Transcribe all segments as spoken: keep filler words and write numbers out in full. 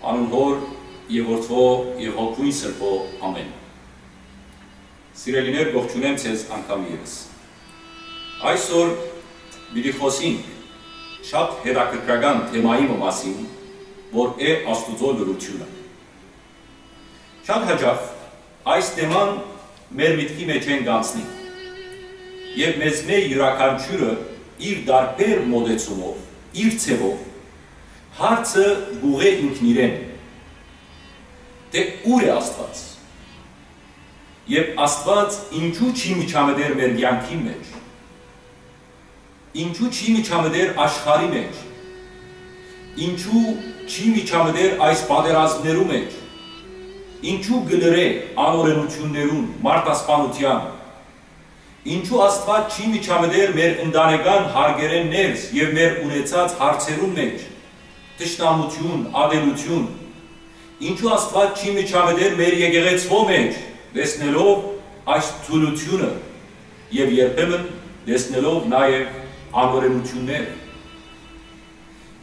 Անուն Հօր եւ Որդւոյ եւ Հոգւոյն Սրբոյ։ Ամէն։ Սիրելիներ, կողջունեմ ձեզ անգամ եւս։ Այսօր պիտի խօսենք շատ հետաքրքրական թեմայի մը մասին, որ է Աստուծոյ լռութիւնը։ Շատ յաճախ այս թեման մեր միտքի մէջէն կ'անցնի եւ մեզմէ իւրաքանչիւրը իր տարբեր մօտեցումով, իր ձեւով հարցը կ'ուղղէ ինքնիրեն, թէ ո՞ւր է Աստուած։ Եւ Աստուած ինչո՞ւ չի միջամտեր մեր կեանքին մէջ։ Ինչո՞ւ չի միջամտեր աշխարհի մէջ։ Ինչո՞ւ չի միջամտեր այս պատերազմներու մէջ։ Ինչո՞ւ կը լռէ անօրենութիւններուն, մարդասպանութեան։ Ինչո՞ւ Աստուած չի միջամտեր մեր ընտանեկան հարկերէն ներս եւ մեր ունեցած հարցերուն մէջ, թշնամութիւն, ատելութիւն։ Ինչո՞ւ Աստուած չի միջամտեր մեր եկեղեցւոյ մէջ, տեսնելով այս թուլութիւնը եւ երբեմն տեսնելով նաեւ անօրենութիւններ։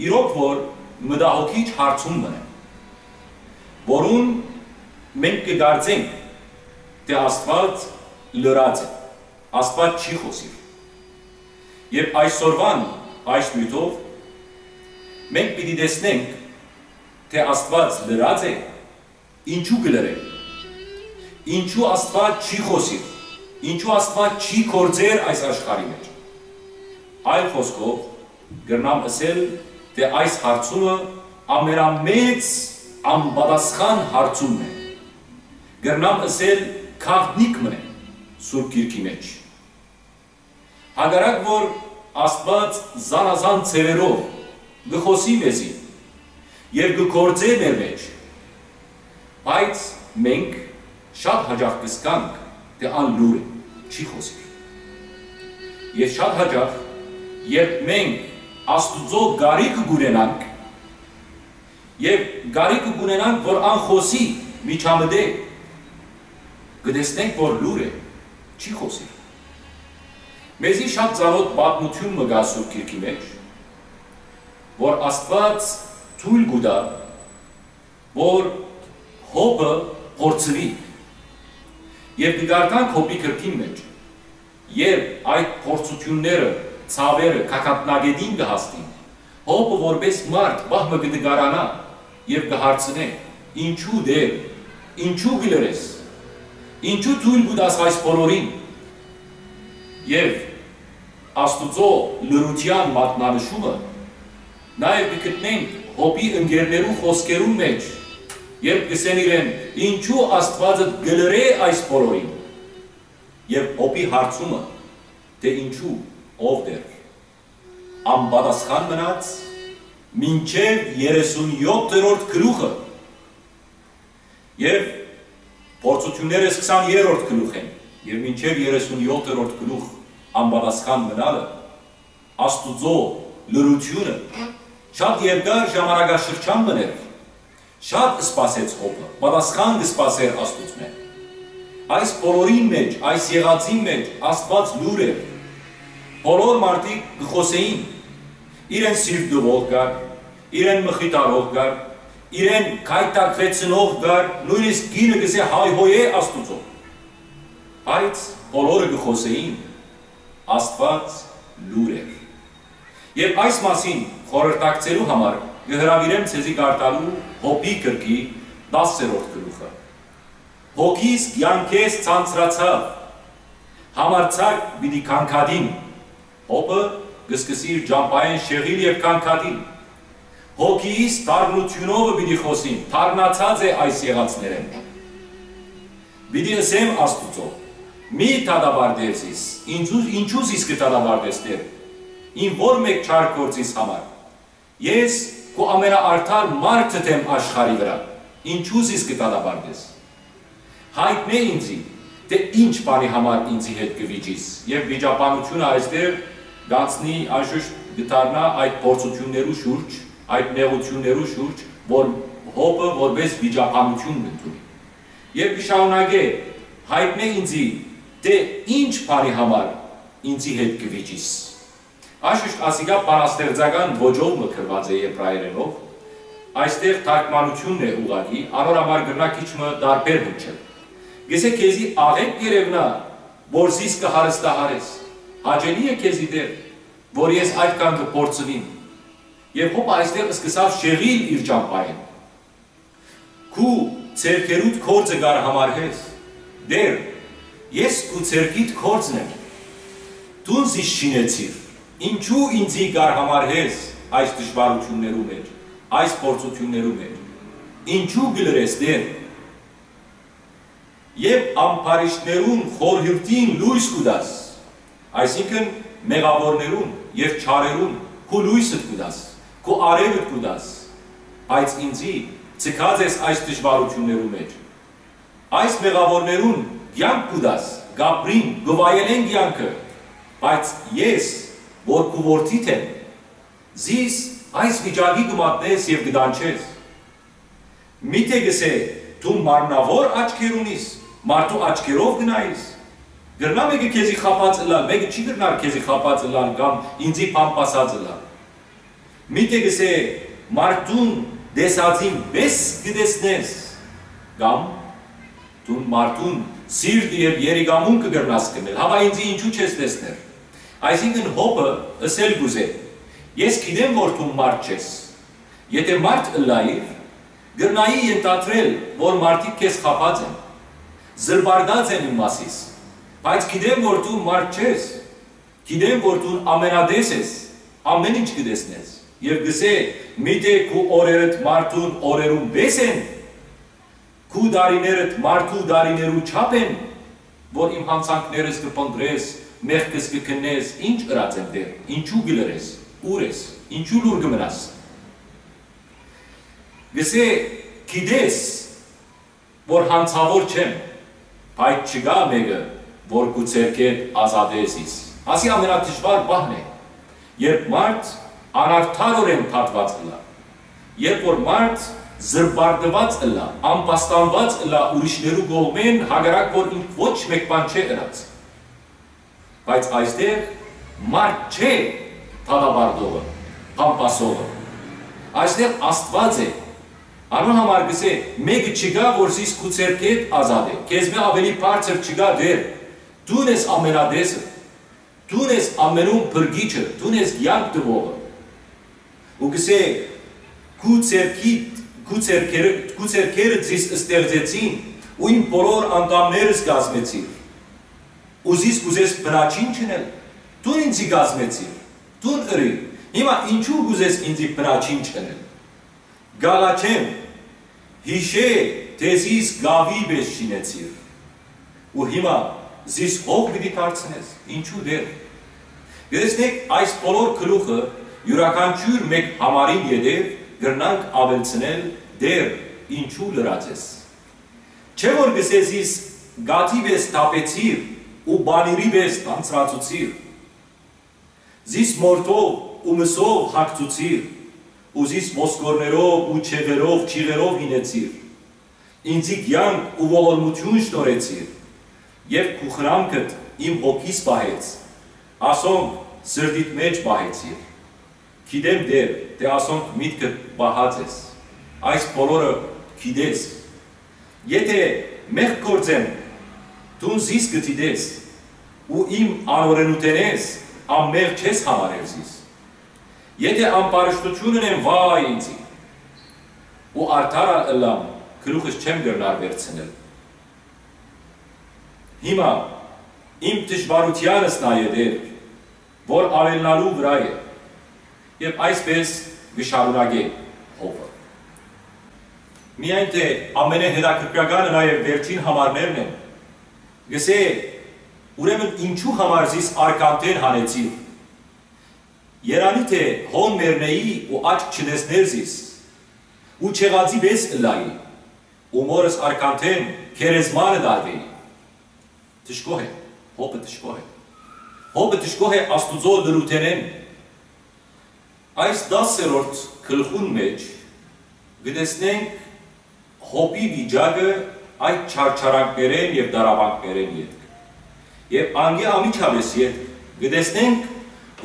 Իրոք որ մտահոգիչ հարցում մը է, որուն մենք կը կարծենք, թէ Աստուած լռած է, Աստուած չի խօսիր։ Եւ այսօրուան այս նիւթով մենք պիտի տեսնենք, թէ Աստուած լռած է, ինչու կը լռէ, ինչու Աստուած չի խօսիր, ինչու Աստուած չի գործեր այս աշխարհի մէջ։ Այլ խօսքով, կրնամ ըսել, թէ այս հարցումը ամենամեծ անպատասխան հարցումն է։ Կրնամ ըսել, գաղտնիք մը է Սուրբ Գիրքի մէջ։ Հակառակ որ Աստուած զանազան ձեւերով կը խօսի մեզի եւ կը գործէ մեր մէջ, բայց մենք շատ յաճախ կ'զգանք, թէ ան լուռ է, չի խօսիր։ Եւ շատ յաճախ, երբ մենք Աստուծոյ կարիքը կ'ունենանք, եւ կարիքը կ'ունենանք, որ ան խօսի, միջամտէ, կը տեսնենք, որ լուռ է, չի խօսիր։ Մեզի շատ ծանօթ պատմութիւն մը կայ Սուրբ Գիրքի մէջ, որ Աստուած թոյլ կու տայ, որ Յոբը փորձուի։ Եւ կը կարդանք Յոբի գրքին մէջ, երբ այդ փորձութիւնները, ցաւերը գագաթնակէտին կը հասնին, Յոբը որպէս մարդ պահ մը կը տկարանայ եւ կը հարցնէ. «Ինչու, Տէր, ինչու կը լռես, ինչու թոյլ կու տաս այս բոլորին»։ Եւ Աստուծոյ լռութեան մատնանշումը նաեւ կը գտնենք Յոբի ընկերներու խօսքերուն մէջ, երբ կ'ըսեն իրեն. «Ինչու Աստուածդ կը լռէ այս բոլորին»։ Եւ Յոբի հարցումը, թէ ինչու, ով Տէր, անպատասխան մնաց մինչեւ երեսունեօթերորդ գլուխը։ Եւ Փորձութիւնները սկսան երրորդ գլուխէն եւ մինչեւ երեսունեօթերորդ գլուխ անպատասխան մնալը, Աստուծոյ լռութիւնը շատ երկար ժամանակաշրջան մը էր։ Շատ սպասեց Յոբը, պատասխան կը սպասէր Աստուծմէ։ Այս բոլորին մէջ, այս եղածին մէջ Աստուած լուռ էր։ Բոլոր մարդիկ կը խօսէին, իրեն սիրտ տուող կար, իրեն մխիթարող կար, իրեն գայթակղեցնող կար, նոյնիսկ կինը կ'ըսէ հայհոյէ Աստուծոյ։ Բայց բոլորը կը խօսէին, Աստուած լուռ էր։ Եւ այս մասին խորհրդակցելու համար կը հրաւիրեմ ձեզի կարդալու Յոբի գրքի տասերորդ գլուխը։ «Հոգիս կեանքէս ցանցրացաւ, համարձակ պիտի գանգատիմ»։ Յոբը կը սկսի իր ճամբայէն շեղիլ եւ գանգատիլ։ «Հոգիս դառնութիւնովը պիտի խօսիմ, դառնացած է այս եղածներէն։ Պիտի ըսեմ Աստուծոյ. "Մի դատապարտեր զիս, ինչու, ինչու զիս կը դատապարտես, Տէր, իմ որ մէկ չար գործիս համար։ Ես քու ամենաարդար մարդդ եմ աշխարհի վրայ, ինչու զիս կը դատապարտես։ Յայտնէ ինծի, թէ ինչ բանի համար ինծի հետ կը վիճիս"։ Եւ վիճաբանությունը այստեղ կ'անցնի, անշուշտ կը դառնայ այդ փորձութիւններու շուրջ, այդ նեղութիւններու շուրջ, որ Յոբը որպես վիճաբանութիւն կ'ընդունի։ Եւ կը շարունակէ. "Յայտնէ ինծի, թէ ինչ բանի համար ինծի հետ կը վիճիս"։ Անշուշտ ասիկա բանաստեղծական ոճով մը գրուած է, եբրայերէնով, Այստեղ թարգմանութիւնն է ուղղակի, անոր համար կրնայ քիչ մը տարբեր հնչել։ Կ'ըսէ, քեզի աղէկ կ'երեւնայ, որ զիս կը հարստահարես։ Հաճելի է քեզի, Տէր, որ ես այդքան կը փորձուիմ։ Եւ հոպ այստեղ սկսաւ շեղիլ իր ճամբայէն։ Քու ձեռքերուդ գործը կ'արհամարհես։ Տէր, ես քու ձեռքիդ գործն եմ։ Դուն զիս շինեցիր։ Ինչո՞ւ ինծի կ'արհամարհես այս դժուարութիւններու մէջ, այս փորձութիւններու մէջ։ Ինչո՞ւ կը լռես, Տէր։ Եւ ամբարիշտներուն խորհուրդին լոյս կու տաս, այսինքն՝ մեղաւորներուն եւ չարերուն քու լոյսդ կու տաս, քու արեւդ կու տաս, բայց ինծի ձգած ես այս դժուարութիւններու մէջ։ Այս մեղաւորներուն կեանք կու տաս, կ'ապրին, կը վայելեն կեանքը, բայց ես, որ քու որդիդ եմ, զիս այս վիճակի կը մատնես եւ կը տանջես։ Միթէ կ'ըսէ, դու մարմնաւոր աչքեր ունիս, մարդու աչքերով կը նայիս։ Կրնայ մէկը քեզի խաբած ըլլալ, մէկը չի կրնար քեզի խաբած ըլլալ կամ ինծի բան պասած ըլլալ։ Միթէ կ'ըսէ, մարդուն տեսածին պէս կը տեսնես, կամ դուն մարդուն սիրտը եւ երիկամունքը կրնաս կրնել, հապա ինծի ինչու չես տեսներ։ Այսինքն՝ հոպը ըսել կ'ուզէ. «Ես գիտեմ, որ դու մարդ չես։ Եթէ մարդ ըլլայիր, կրնայի ենթադրել, որ մարդիկ քեզ խաբած են, զրպարտած են իմ մասիս, բայց գիտեմ, որ դու մարդ չես, գիտեմ, որ դու ամենատես ես, ամէն ինչ կը տեսնես»։ Եւ կ'ըսէ. «Միթէ քու օրերդ մարդուն օրերուն պէս են, քու տարիներդ մարդու տարիներու չափ են, որ իմ յանցանքներս կը փնտռես, մեղքս կը քննես, ինչ ըրած եմ, Տէր, ինչո՞ւ կը լռես, ո՞ւր ես, ինչո՞ւ լուռ կը մնաս»։ Կ'ըսէ. «Գիտես, որ յանցաւոր չեմ, բայց չկայ մէկը, որ քու ձեռքէդ ազատէ զիս»։ Ասի ամենադժուար պահն է, երբ մարդ անարդարօրէն դատուած ըլլայ, երբ որ մարդ զրպարտուած ըլլայ, ամբաստանուած ըլլայ ուրիշներու կողմէն, հակառակ որ ինք ոչ մէկ բան չէ ըրած։ Բայց այստեղ մարդ չէ դատապարտողը, բամբասողը։ Այստեղ Աստուած է։ Անոր համար կ'ըսէ. «Մէկը չկայ, որ զիս քու ձեռքէդ ազատէ։ Քեզմէ աւելի բարձր չկայ, Տէր։ Դուն ես ամենատեսը, դուն ես ամենում փրկիչը, դուն ես կեանք տուողը»։ Ու կ'ըսէ. «Քու ձեռքիդ, քու ձեռքերը, քու ձեռքերդ զիս ստեղծեցին ու իմ բոլոր անդամներս կազմեցիր։ Ու զիս կ'ուզես բնաջին չընել, դուն ինծի կազմեցիր, դուն ըրի, հիմա ինչու կ'ուզես ինծի բնաջին չընել։ Կ'աղաչեմ, յիշէ, թէ զիս կաւի պէս շինեցիր, ու հիմա զիս հող պիտի դարձնես, ինչու, Տէր»։ Տեսնէք, այս բոլոր գլուխը յուրաքանչիւր մէկ համարին ետեւ կրնանք աւելցնել. «Տէր, ինչու լռած ես»։ Չէ՞ որ կ'ըսէ. «Զիս կաթի պէս թափեցիր ու պանիրի պէս թանձրացուցիր, զիս մորթով ու մսով հագցուցիր ու զիս ոսկորներով ու չեղերով, չիղերով հինեցիր, ինծի կեանք ու ողորմութիւն շնորհեցիր, եւ քու խնամքդ իմ հոգիս պահեց, ասոնք սրտիդ մէջ պահեցիր։ Գիտեմ, Տէր, թէ ասոնք միտքդ պահած ես, այս բոլորը գիտես։ Եթէ մեղք գործեմ, դուն զիս կը դիտես ու իմ անօրէնութենէս անմեղ չես համարեր զիս։ Եթէ ամբարշտութիւն ընեմ, վա՛յ ինծի, ու արդար ալ ըլլամ, գլուխս չեմ կրնար վերցնել։ Հիմա իմ դժուարութեանս նայ, Տէր, որ աւելնալու վրայ է»։ Եւ այսպէս կը շարունակէ հոպը։ Միայն թէ ամենահետաքրքրականը նաեւ վերջին համարներն են։ Կ'ըսէ. «Ուրեմն ինչու համար զիս արքանթէն հանեցիր։ Երանի թէ հոն մեռնէի ու աչք չտեսներ զիս, ու չեղածի պէս ըլլայի, ու մորս արքանթէն գերեզմանը տարուէի»։ Դժգոհ է, հոպը դժգոհ է։ Հոպը դժգոհ է Աստուծոյ լռութենէն։ Այս տասերորդ գլխուն մէջ կը տեսնենք Հոպի վիճակը այդ չարչարանքներէն եւ տառապանքներէն ետք։ Եւ անկէ անմիջապէս ետք կը տեսնենք,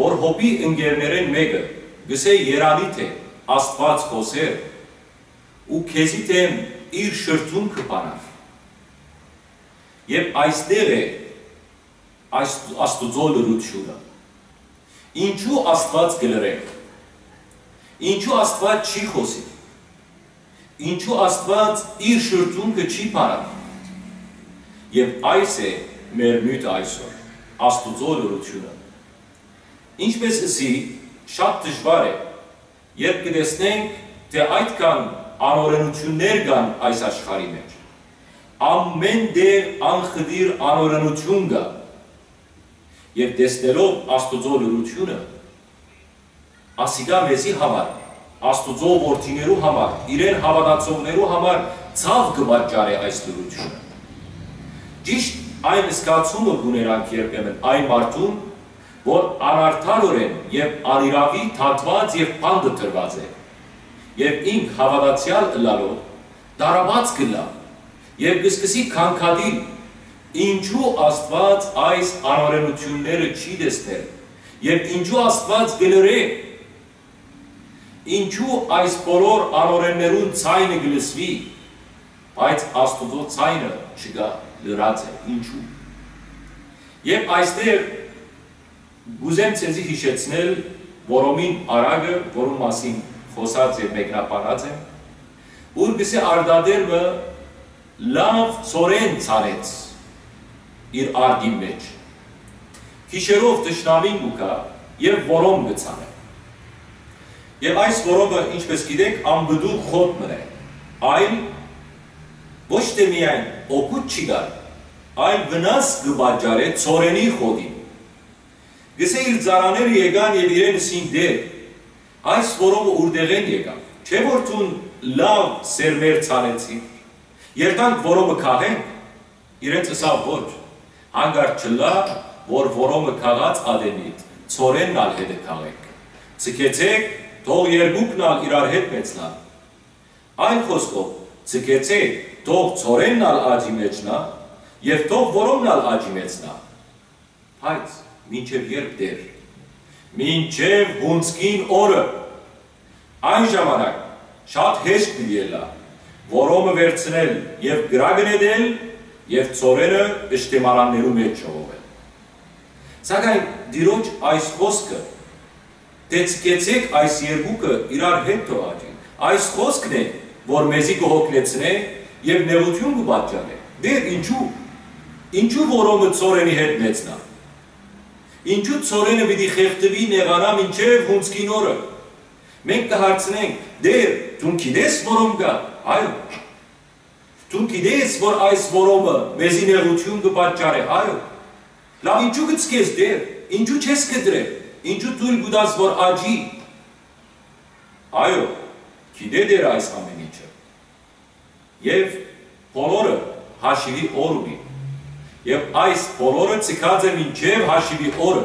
որ Հոպի ընկերներէն մէկը կ'ըսէ. «Երանի թէ Աստուած խօսեր, ու քեզի դէմ իր շրթունքը բանար։ Եւ այստեղ է այս Աստուծոյ լռութիւնը։ Ինչու Աստուած կը լռէ։ Ինչու Աստուած չի խօսի։ Ինչու Աստուած իր շրթունքը չի բանար։ Եւ այս է մեր նիւթը այսօր, Աստուծոյ լռութիւնը։ Ինչպէս ըսի, շատ դժուար է, երբ կը տեսնենք, թէ այդքան անօրենութիւններ կան այս աշխարհի մէջ։ Ամէն տեղ անխտիր անօրենութիւն կայ։ Եւ տեսնելով Աստուծոյ լռութիւնը, ասիկա մեզի համար, Աստուծոյ որդիներու համար, իրեն հաւատացողներու համար ցաւ կը պատճառէ այս լռութիւնը։ Ճիշդ այն զգացումը կ'ունենանք երբեմն այն մարդուն, որ անարդարօրէն եւ անիրաւի դատուած եւ բանտը դրուած է, եւ ինք հաւատացեալ ըլլալով, տառապած կ'ըլլայ եւ կը սկսի քանքատիլ, ինչու Աստուած այս անօրենութիւնները չի տեսներ եւ ինչու Աստուած կը լռէ, ինչու այս բոլոր անօրեններուն ձայնը կը լսուի, բայց Աստուծոյ ձայնը չկայ, լռած է, ինչու։ Եւ այստեղ կ'ուզեմ ձեզի յիշեցնել Որոմին առակը, որուն մասին խօսած եւ մեկնաբանած եմ, ուր կ'ըսէ, արտատեր մը լաւ ցորեն ցանեց իր արտին մէջ։ Գիշերով թշնամին կու գայ եւ որոմ կը ցանէ։ Եւ այս որոմը, ինչպէս գիտէք, անպտուղ խոտ մըն է, այլ ոչ թէ միայն օգուտ չի տար, այլ վնաս կը պատճառէ ցորենի խոտին։ Կ'ըսէ, իր ծառաները եկան եւ իրեն ըսին. «Տէր, այս որոմը ուրտեղէն եկաւ, չէ՞ որ դուն լաւ սերմեր ցանեցիր։ Երթանք որոմը քաղենք»։ Իրենց ըսաւ. «Ոչ, հանկարծ չըլլայ, որ որոմը քաղած ատենիդ, ցորենն ալ հետը քաղեք։ Ձգեցէք, թող երկուքն ալ իրար հետ մեծնան։ Այլ խօսքով, ձգեցէք, թող ցորենն ալ աճի մեջնայ եւ թող որոմն ալ աճի մեծնայ։ Բայց մինչեւ ե՞րբ, Տէր»։ «Մինչեւ յունձքին օրը։ Այն ժամանակ շատ հեշտ պիտի ըլլայ որոմը վերցնել եւ կրակը նետել եւ ցորենը պշտեմանաններու մէջ ժողովել»։ Սակայն Տիրոջ այս խօսքը, թէ «Ձգեցէք այս երկուքը իրար հետ թող աճին», այս խօսքն է, որ մեզի կը հոգնեցնէ եւ նեղութիւն կը պատճառէ։ Տէր, ինչու, ինչու որոմը ցորենի հետ մեծնայ։ Ինչու ցորենը պիտի խեղդուի, նեղանայ մինչեւ յունձքին օրը։ Մենք կը հարցնենք. «Տէր, դուն գիտես որոմ կայ»։ Այո։ «Դուն գիտես, որ այս որոմը մեզի նեղութիւն կը պատճառէ»։ Այո։ «Լաւ, ինչու կը ձգես, Տէր, ինչու չես կտրեր, ինչու թոյլ կու տաս, որ աճի»։ Այո, գիտէ Տէր այս ամէն ինչը։ Եւ բոլորը հաշիւի օր ունին։ Եւ այս բոլորը ձգած է մինչեւ հաշիւի օրը։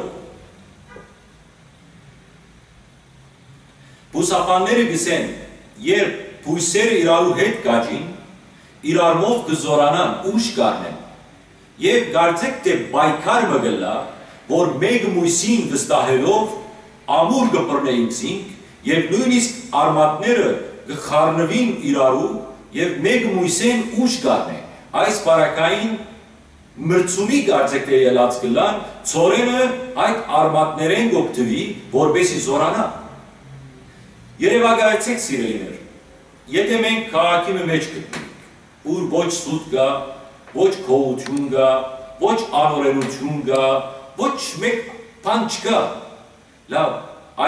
Բուսաբանները կ'ըսեն, երբ բոյսերը իրարու հետ կաճին, իրարմով կը զօրանան, ուժ կ'առնեն։ Եւ կարծէք թէ պայքար մը կ'ըլլայ, որ մէկը մոյսին վստահելով ամուր կը բռնէ ինքզինք, եւ նոյնիսկ արմատները կը խառնուին իրարու, եւ մէկը մոյսէն ուժ կ'առնէ։ Այս պարագային մրցումի կարծէք թէ ելած կ'ըլլան, ցորենը այդ արմատներէն կ'օգտուի, որպէսզի զօրանայ։ Երեւակայեցէք, սիրելիներ, եթէ մենք քաղաքի մը մէջ գտնենք, ուր ոչ սուտ կայ, ոչ գողութիւն կայ, ոչ անօրենութիւն կայ, ոչ մէկ բան չկայ, լաւ,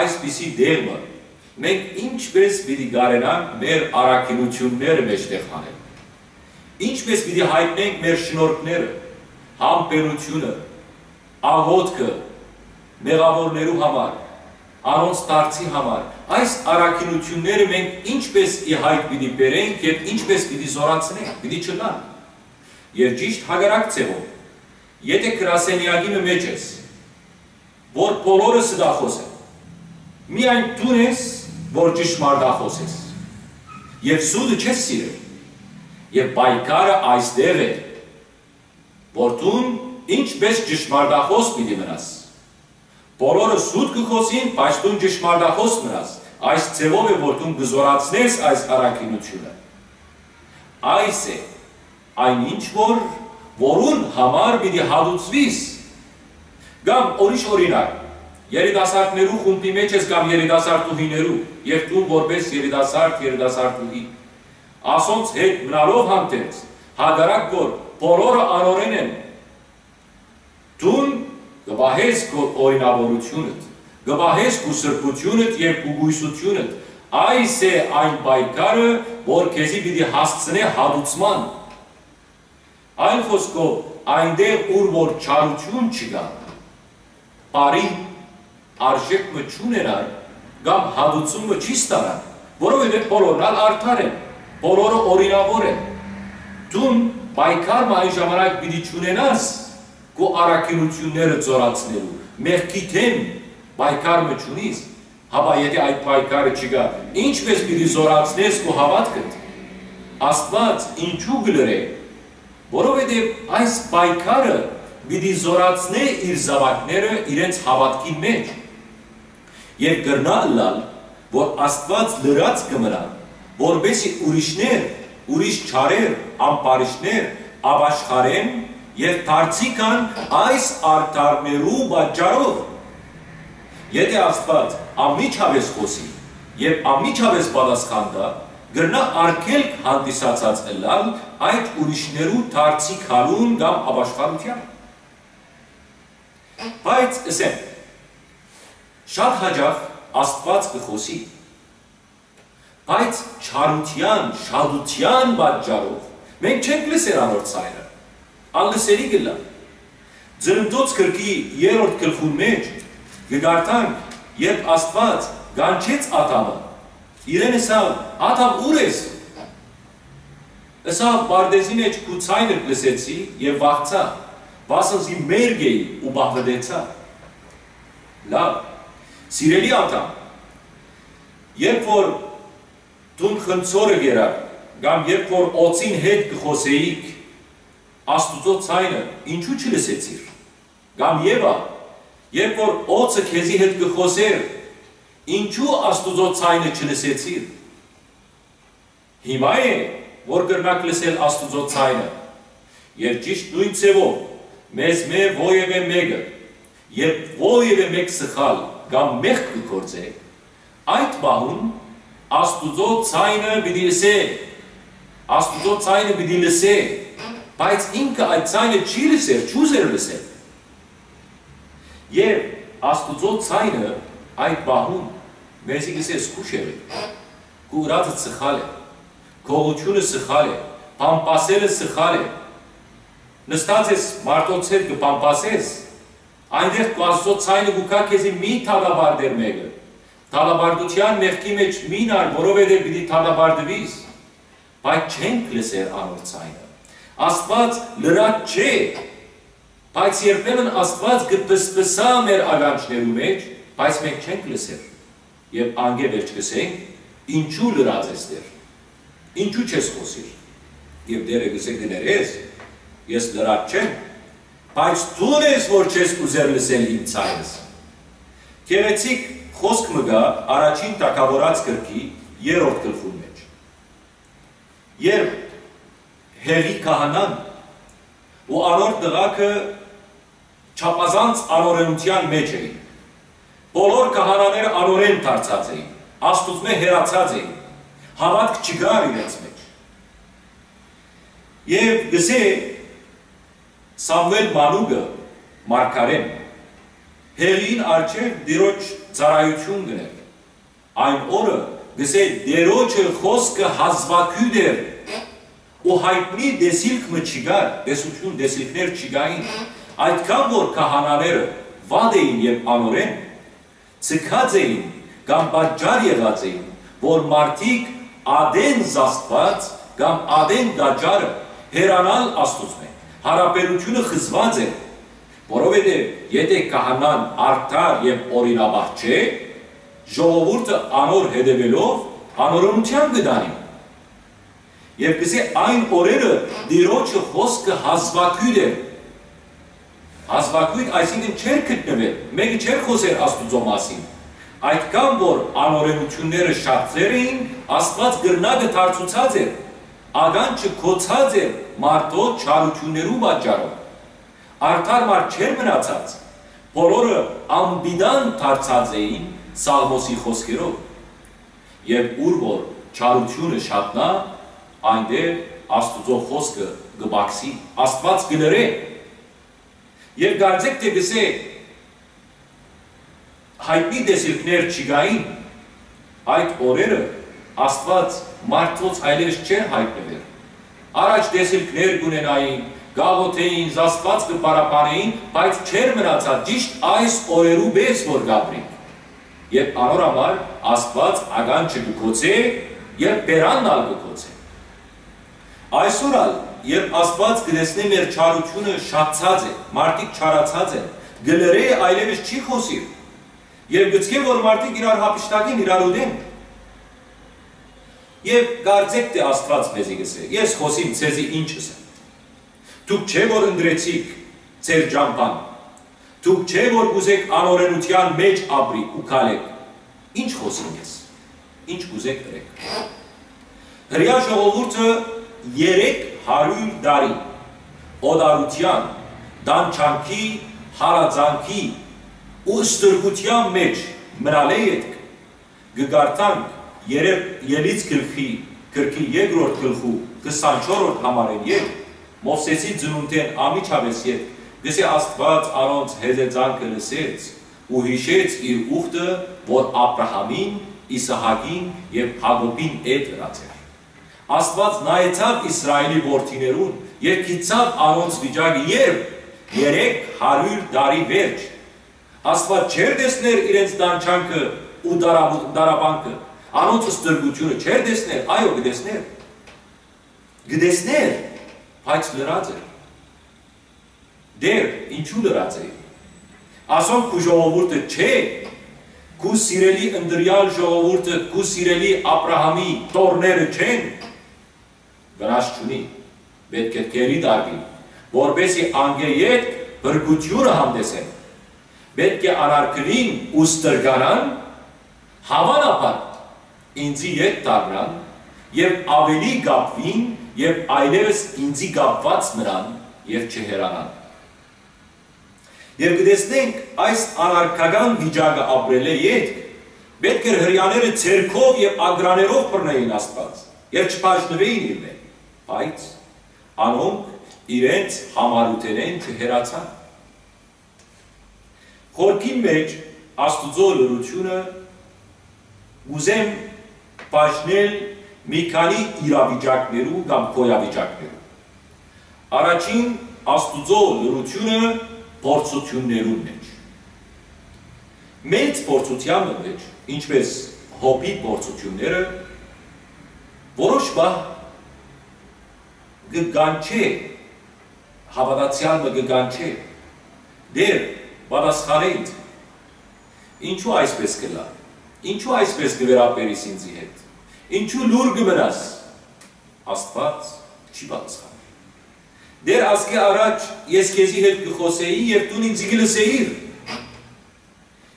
այսպիսի տեղ մը, մենք ինչպէս պիտի կարենանք մեր առաքինութիւնները մէջտեղ հանել։ Ինչպէս պիտի յայտնենք մեր շնորհքները, համբերութիւնը, աղօթքը, մեղաւորներու համար, անոնց դարձի համար, այս առաքինութիւնները մենք ինչպէս ի յայտ պիտի բերենք եւ ինչպէս պիտի զօրացնենք, պիտի չըլլան։ Եւ ճիշդ հակառակ ձեւով, եթէ գրասենեակի մը մէջ ես, որ բոլորը ստախոս են, միայն դուն ես, որ ճշմարտախոս ես, եւ սուտը չես սիրել, եւ պայքարը այստեղ է, որ դուն ինչպէս ճշմարտախոս պիտի մնաս։ Բոլորը սուտ կը խօսին, բայց դուն ճշմարտախոս մնաս, Այս ձեւով է, որ դուն կը զօրացնես այս առաքինութիւնը։ Այս է այն ինչ որ, որուն համար պիտի հատուցուիս։ Կամ ուրիշ օրինակ, երիտասարդներու խումբի մեջ ես կամ երիտասարդուհիներու, եւ դու որպես երիտասարդ, երիտասարդուհի, ասոնց հետ մնալով հանդերձ, հակառակ որ բոլորը անօրեն են, դուն կը պահես քո օրինաւորութիւնդ, կը պահես քու սրբութիւնդ եւ քու կոյսութիւնդ։ Այս է այն պայքարը, որ քեզի պիտի հասցնէ հատուցման։ Այլ խօսքով, այնտեղ, ուր որ չարութիւն չկայ, բարի արժէք մը չունենար կամ հատուցում մը չի ստանար, որովհետեւ բոլորն ալ արդար են, բոլորը օրինաւոր են։ Դուն պայքար մը այն ժամանակ պիտի չունենաս քու առաքինութիւնները զօրացնելու, մեղքի դէմ պայքար մը չունիս, հապա եթէ այդ պայքարը չկայ, ի՞նչպէս պիտի զօրացնես քու հաւատքդ։ Աստուած ինչու կը լռէ, որովհետեւ այս պայքարը պիտի զօրացնէ իր զաւակները իրենց հաւատքին մէջ։ Եւ կրնայ ըլլալ, որ Աստուած լռած կը մնայ, որպէսզի ուրիշներ, ուրիշ չարեր, ամբարիշտներ ապաշխարեն եւ դարձի գան այս արդարներու պատճառով։ Եթէ Աստուած անմիջապէս խօսի եւ անմիջապէս պատասխան տայ, կրնայ արգելք հանդիսացած ըլլալ այդ ուրիշներու դարձի գալուն կամ ապաշխարութեան։ Բայց ըսեմ, շատ յաճախ Աստուած կը խօսի, բայց չարութեան, շատութեան պատճառով մենք չենք լսեր անոր ձայնը, անլսելի կ'ըլլայ։ Ծննդոց գրքի երրորդ գլխուն մէջ կը կարդանք, երբ Աստուած կանչեց Ադամը, իրեն ըսաւ. «Ադամ, ո՞ւր ես»։ Ըսաւ. «Պարտէզի մէջ քու ձայնդ լսեցի եւ վախցայ, վասն զի մերկ էի ու պահպտեցայ»։ Լաւ, սիրելի Ադամ, երբ որ դուն խնձորը կերար, կամ երբ որ օծին հետ կը խօսէիք, Աստուծոյ ձայնը ինչու չլսեցիր։ Կամ Եվա, երբ որ օծը քեզի հետ կը խօսէր, ինչու Աստուծոյ ձայնը չլսեցիր։ Հիմա է, որ կրնաք լսել Աստուծոյ ձայնը։ Եւ ճիշդ նոյն ձեւով, մեզմէ որեւէ մէկը, երբ որեւէ մէկ սխալ կամ մեղք կը գործէ, այդ պահուն Աստուծոյ ձայնը պիտի լսէ, Աստուծոյ ձայնը պիտի լսէ, բայց ինքը այդ ձայնը չի լսեր, չուզեր լսել։ Եւ Աստուծոյ ձայնը այդ պահուն մեզի կ'ըսէ. «Զգուշ եղէք, քու ըրածը սխալ է, գողութիւնը սխալ է, բամբասելը սխալ է»։ Նստած ես մարդոց հետ կը բամբասես, այնտեղ քու Աստուծոյ ձայնը կու գայ քեզի. «Մի դատապարտեր մէկը, դատապարտութեան մեղքի մէջ մի նար, որովհետեւ պիտի դատապարտուիս»։ Բայց չենք լսեր անոր ձայնը։ Աստուած լռած չէ, բայց երբեմն Աստուած կը պսպսայ մեր ականջներու մէջ, բայց մենք չենք լսեր։ Եւ անկէ վերջ կ'ըսենք. «Ինչու լռած ես, Տէր, ինչու չես խօսիր»։ Եւ Տէրը կ'ըսէ. «Կներես, ես լռած չեմ, բայց դուն ես, որ չես ուզեր լսել իմ ձայնս»։ Գեղեցիկ խօսք մը կայ Առաջին Թագաւորաց գրքի երրորդ գլխուն մէջ, երբ Հեղի քահանան ու անոր տղաքը չափազանց անօրենութեան մէջ էին։ Բոլոր քահանաները անօրեն դարձած էին, Աստուծմէ հեռացած էին, հաւատք չկար իրենց մէջ։ Եւ կ'ըսէ Սամուէլ մանուկը մարգարէն, Հեղիին առջեւ Տիրոջ ծառայութիւն կ'ընէր։ Այն օրը, կ'ըսէ, Տիրոջը խօսքը հազուագիւտ էր ու յայտնի տեսիլք մը չկար, տեսութիւն, տեսիլքներ չկային, այդքան որ քահանաները վատ էին եւ անօրեն, ձգած էին կամ պատճառ եղած էին, որ մարդիկ ատեն զաստուած կամ ատեն տաճարը հեռանալ Աստուծմէ, յարաբերութիւնը խզուած էր, որովհետեւ եթէ քահանան արդար եւ օրինապահ չէ, ժողովուրդը անոր հետեւելով անօրենութեան կը տանի։ Եւ կ'ըսէ, այն օրերը Տիրոջը խօսքը հազուագիւտ էր։ Հազուագիւտ, այսինքն, չէր գտնուեր, մէկը չէր խօսեր Աստուծոյ մասին։ Այդքան որ անօրենութիւնները շատ ծեր էին, Աստուած կրնակը դարձուցած էր, ականջը գոցած էր մարդոց չարութիւններու պատճառով։ Արդար մարդ չէր մնացած, բոլորը անպիտան դարձած էին Սաղմոսի խօսքերով։ Եւ ուր որ չարութիւնը շատնայ, այնտեղ Աստուծոյ խօսքը կը պակսի, Աստուած կը լռէ։ Եւ կարծէք թէ կ'ըսէ, յայտնի տեսիլքներ չկային, այդ օրերը Աստուած մարդոց այլեւս չէր յայտնուեր։ Առաջ տեսիլքներ կ'ունենային, կ'աղօթէին, Աստուած կը փառաբանէին, բայց չէր մնացած ճիշդ այս օրերու պէս որ կ'ապրինք։ Երբ անոր համար Աստուած ականջը կը գոցէ, երբ բերանն ալ կը գոցէ։ Այսօր ալ, երբ Աստուած կը տեսնէ մեր չարութիւնը շատցած է, մարդիկ չարացած են, կը լռէ, այլեւս չի խօսիր։ Եւ գցկէ որ մարդիկ իրար յափշտակին, իրար ուտեն։ Եւ կարծէք թէ Աստուած մեզի կ'ըսէ. «Ես խօսիմ, ձեզի ինչ ըսեմ։ Դուք չէ՞ որ ընտրեցիք ձեր ճամբան։ Դուք չէ՞ որ կ'ուզէք անօրենութեան մէջ ապրիք ու քալէք։ Ինչ խօսիմ ես, ինչ կ'ուզէք ըրէք»։ Հրեայ ժողովուրդը երեք հարիւր տարի օտարութեան, տանջանքի, հալածանքի ու ստրկութեան մէջ մնալէ ետք, կը կարդանք երեք Ելից գլխի, գրքի երկրորդ գլխու քսանչորրորդ համարէն ետք, Մովսէսի ծնունդէն անմիջապէս ետք, կ'ըսէ, Աստուած անոնց հեզեծանքը լսեց ու յիշեց իր ուխտը, որ Աբրահամին, Իսահակին եւ Յակոբին հետ ըրած էր։ Աստուած նայեցաւ Իսրայէլի որդիներուն եւ գիտցաւ անոնց վիճակը, երբ երեք հարիւր տարի վերջ Աստուած չէր տեսներ իրենց տանջանքը ու տարապ-, տարապանքը, անոնց ստրկութիւնը չէր տեսներ, այո, կը տեսներ։ Կը տեսներ, բայց լռած էր։ Դեր, ինչու լռած է։ Ասոնք քու ժողովուրդը չէ, քու սիրելի ընտրեալ ժողովուրդը, քու սիրելի Աբրահամի թոռները չեն, վնաս չունի, պէտք է գերի տարուին, որպէսզի անկէ ետք փրկութիւնը հանդէս են։ Պէտք է անարգուին ու ստրկանան, հաւանաբար ինծի ետ դառնան եւ աւելի կապուին եւ այլեւս ինծի կապուած մնան եւ չհեռանան։ Եւ կը տեսնենք այս անարգական վիճակը ապրելէ ետք, պէտք էր հրեաները ձեռքով եւ ակռաներով բռնէին Աստուած եւ չբաժնուէին իրմէ, բայց անոնք իրենց յամառութենէն չհեռացան։ Խորքին մէջ Աստուծոյ լռութիւնը կ'ուզեմ բաժնել մի քանի իրավիճակներու կամ գոյավիճակներու։ Առաջին, Աստուծոյ լռութիւնը փորձութիւններուն մէջ։ Մեծ փորձութեան մը մէջ, ինչպէս Յոբի փորձութիւնները, որոշ պահ կը կանչէ, հաւատացեալ մը կը կանչէ. «Տէր, պատասխանէ ինձ։ Ինչու այսպէս կ'ըլլայ։ Ինչու այսպէս կը վերաբերիս ինծի հետ։ Ինչու լուռ կը մնաս»։ Աստուած չի պատասխաներ։ «Տէր, ասկէ առաջ ես քեզի հետ կը խօսէի եւ դուն ինձի կը լսէիր։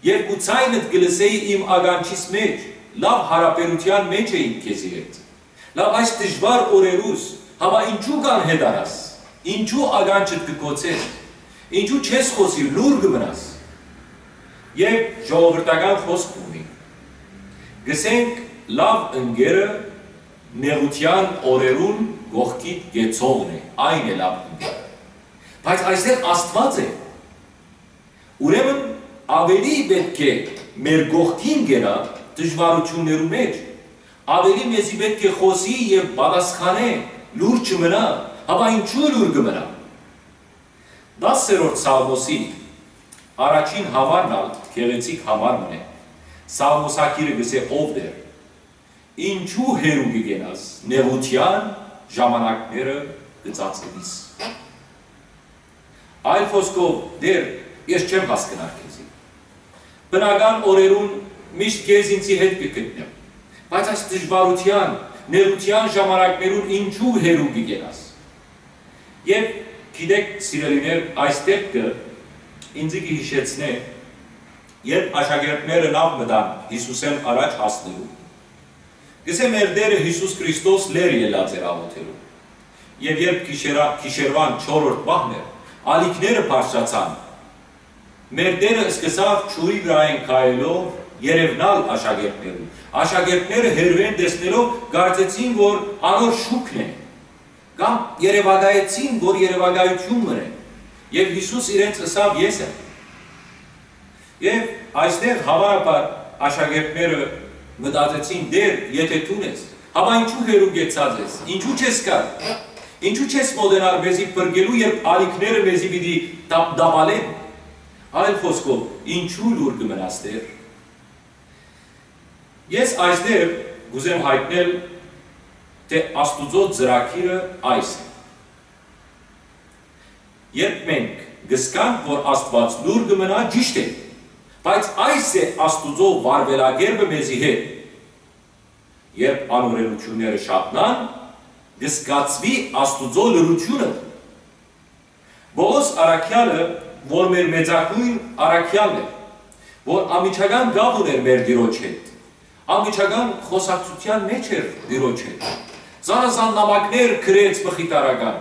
Եւ քու ձայնդ կը լսէի իմ ականջիս մէջ, լաւ յարաբերութեան մէջ էինք քեզի հետ։ Լաւ այս դժուար օրերուս, հապա ինչու կանհետանաս, ինչու ականջդ կը գոցես, ինչու չես խօսիր, լուռ կը մնաս»։ Եւ ժողովրդական խօսք ունի. «Կ'ըսենք, լաւ ընկերը նեղութեան օրերուն կողքիդ կեցողն է, այն է լաւ ընկերը»։ Բայց այստեղ Աստուած է։ Ուրեմն աւելի պէտք է մեր կողքին կենայ դժուարութիւններու մէջ, աւելի մեզի պէտք է խօսի եւ պատասխանէ, լուռ չմնայ, հապա ինչու լուռ կը մնայ։ Տասերորդ Սաղմոսի առաջին համարն ալ գեղեցիկ համար մըն է։ Սաղմոսագիրը կ'ըսէ. «Ով Տէր, ինչու հեռու կը կենաս, նեղութեան ժամանակները կը ծածկուիս»։ Այլ խօսքով, Տէր, ես չեմ հասկնար քեզի։ Բնական օրերուն միշտ քեզ ինձի հետ կը գտնեմ, բայց այս դժուարութեան, նեղութեան ժամանակներուն ինչու հեռու կը կենաս։ Եւ գիտեք, սիրելիներ, այս դեպքը ինձի կը յիշեցնէ Երբ աշակերտները նաւ մտան Յիսուսէն առաջ հասնելու, կ'ըսէ, մեր Տէրը Յիսուս Քրիստոս լեռ ելած էր աղօթելու։ Եւ երբ գիշերա-, գիշերուան չորրորդ պահն էր, ալիքները բարձրացան։ Մեր Տէրը սկսաւ ջուրի վրայէն քայլելով երեւնալ աշակերտներուն։ Աշակերտները հեռուէն տեսնելով կարծեցին, որ անոր շուքն է, կամ երեւակայեցին, որ երեւակայութիւն մըն է։ Եւ Յիսուս իրենց ըսաւ. «Ես եմ»։ Եւ այստեղ, հաւանաբար, աշակերտները մտածեցին. «Տէր, եթէ դուն ես, հապա ինչու հեռու գեցած ես, ինչու չես գար, ինչու չես մօտենար մեզի փրկելու, երբ ալիքները մեզի պիտի տապ-, տապալեն։ Այլ խօսքով, ինչու լուռ կը մնաս, Տէր»։ Ես այստեղ կ'ուզեմ յայտնել, թէ Աստուծոյ ծրագիրը այս է։ Երբ մենք կ'զգանք, որ Աստուած լուռ կը մնայ, ճիշդ է, բայց այս է Աստուծոյ վարուելակերպը մեզի հետ։ Երբ անօրենութիւնները շատնան, կը զգացուի Աստուծոյ լռութիւնը։ Պողոս առաքեալը, որ մեր մեծագոյն առաքեալն էր, որ անմիջական կապ ունէր մեր Տիրոջ հետ, անմիջական խօսակցութեան մէջ էր Տիրոջ հետ, զանազան նամակներ գրեց մխիթարական,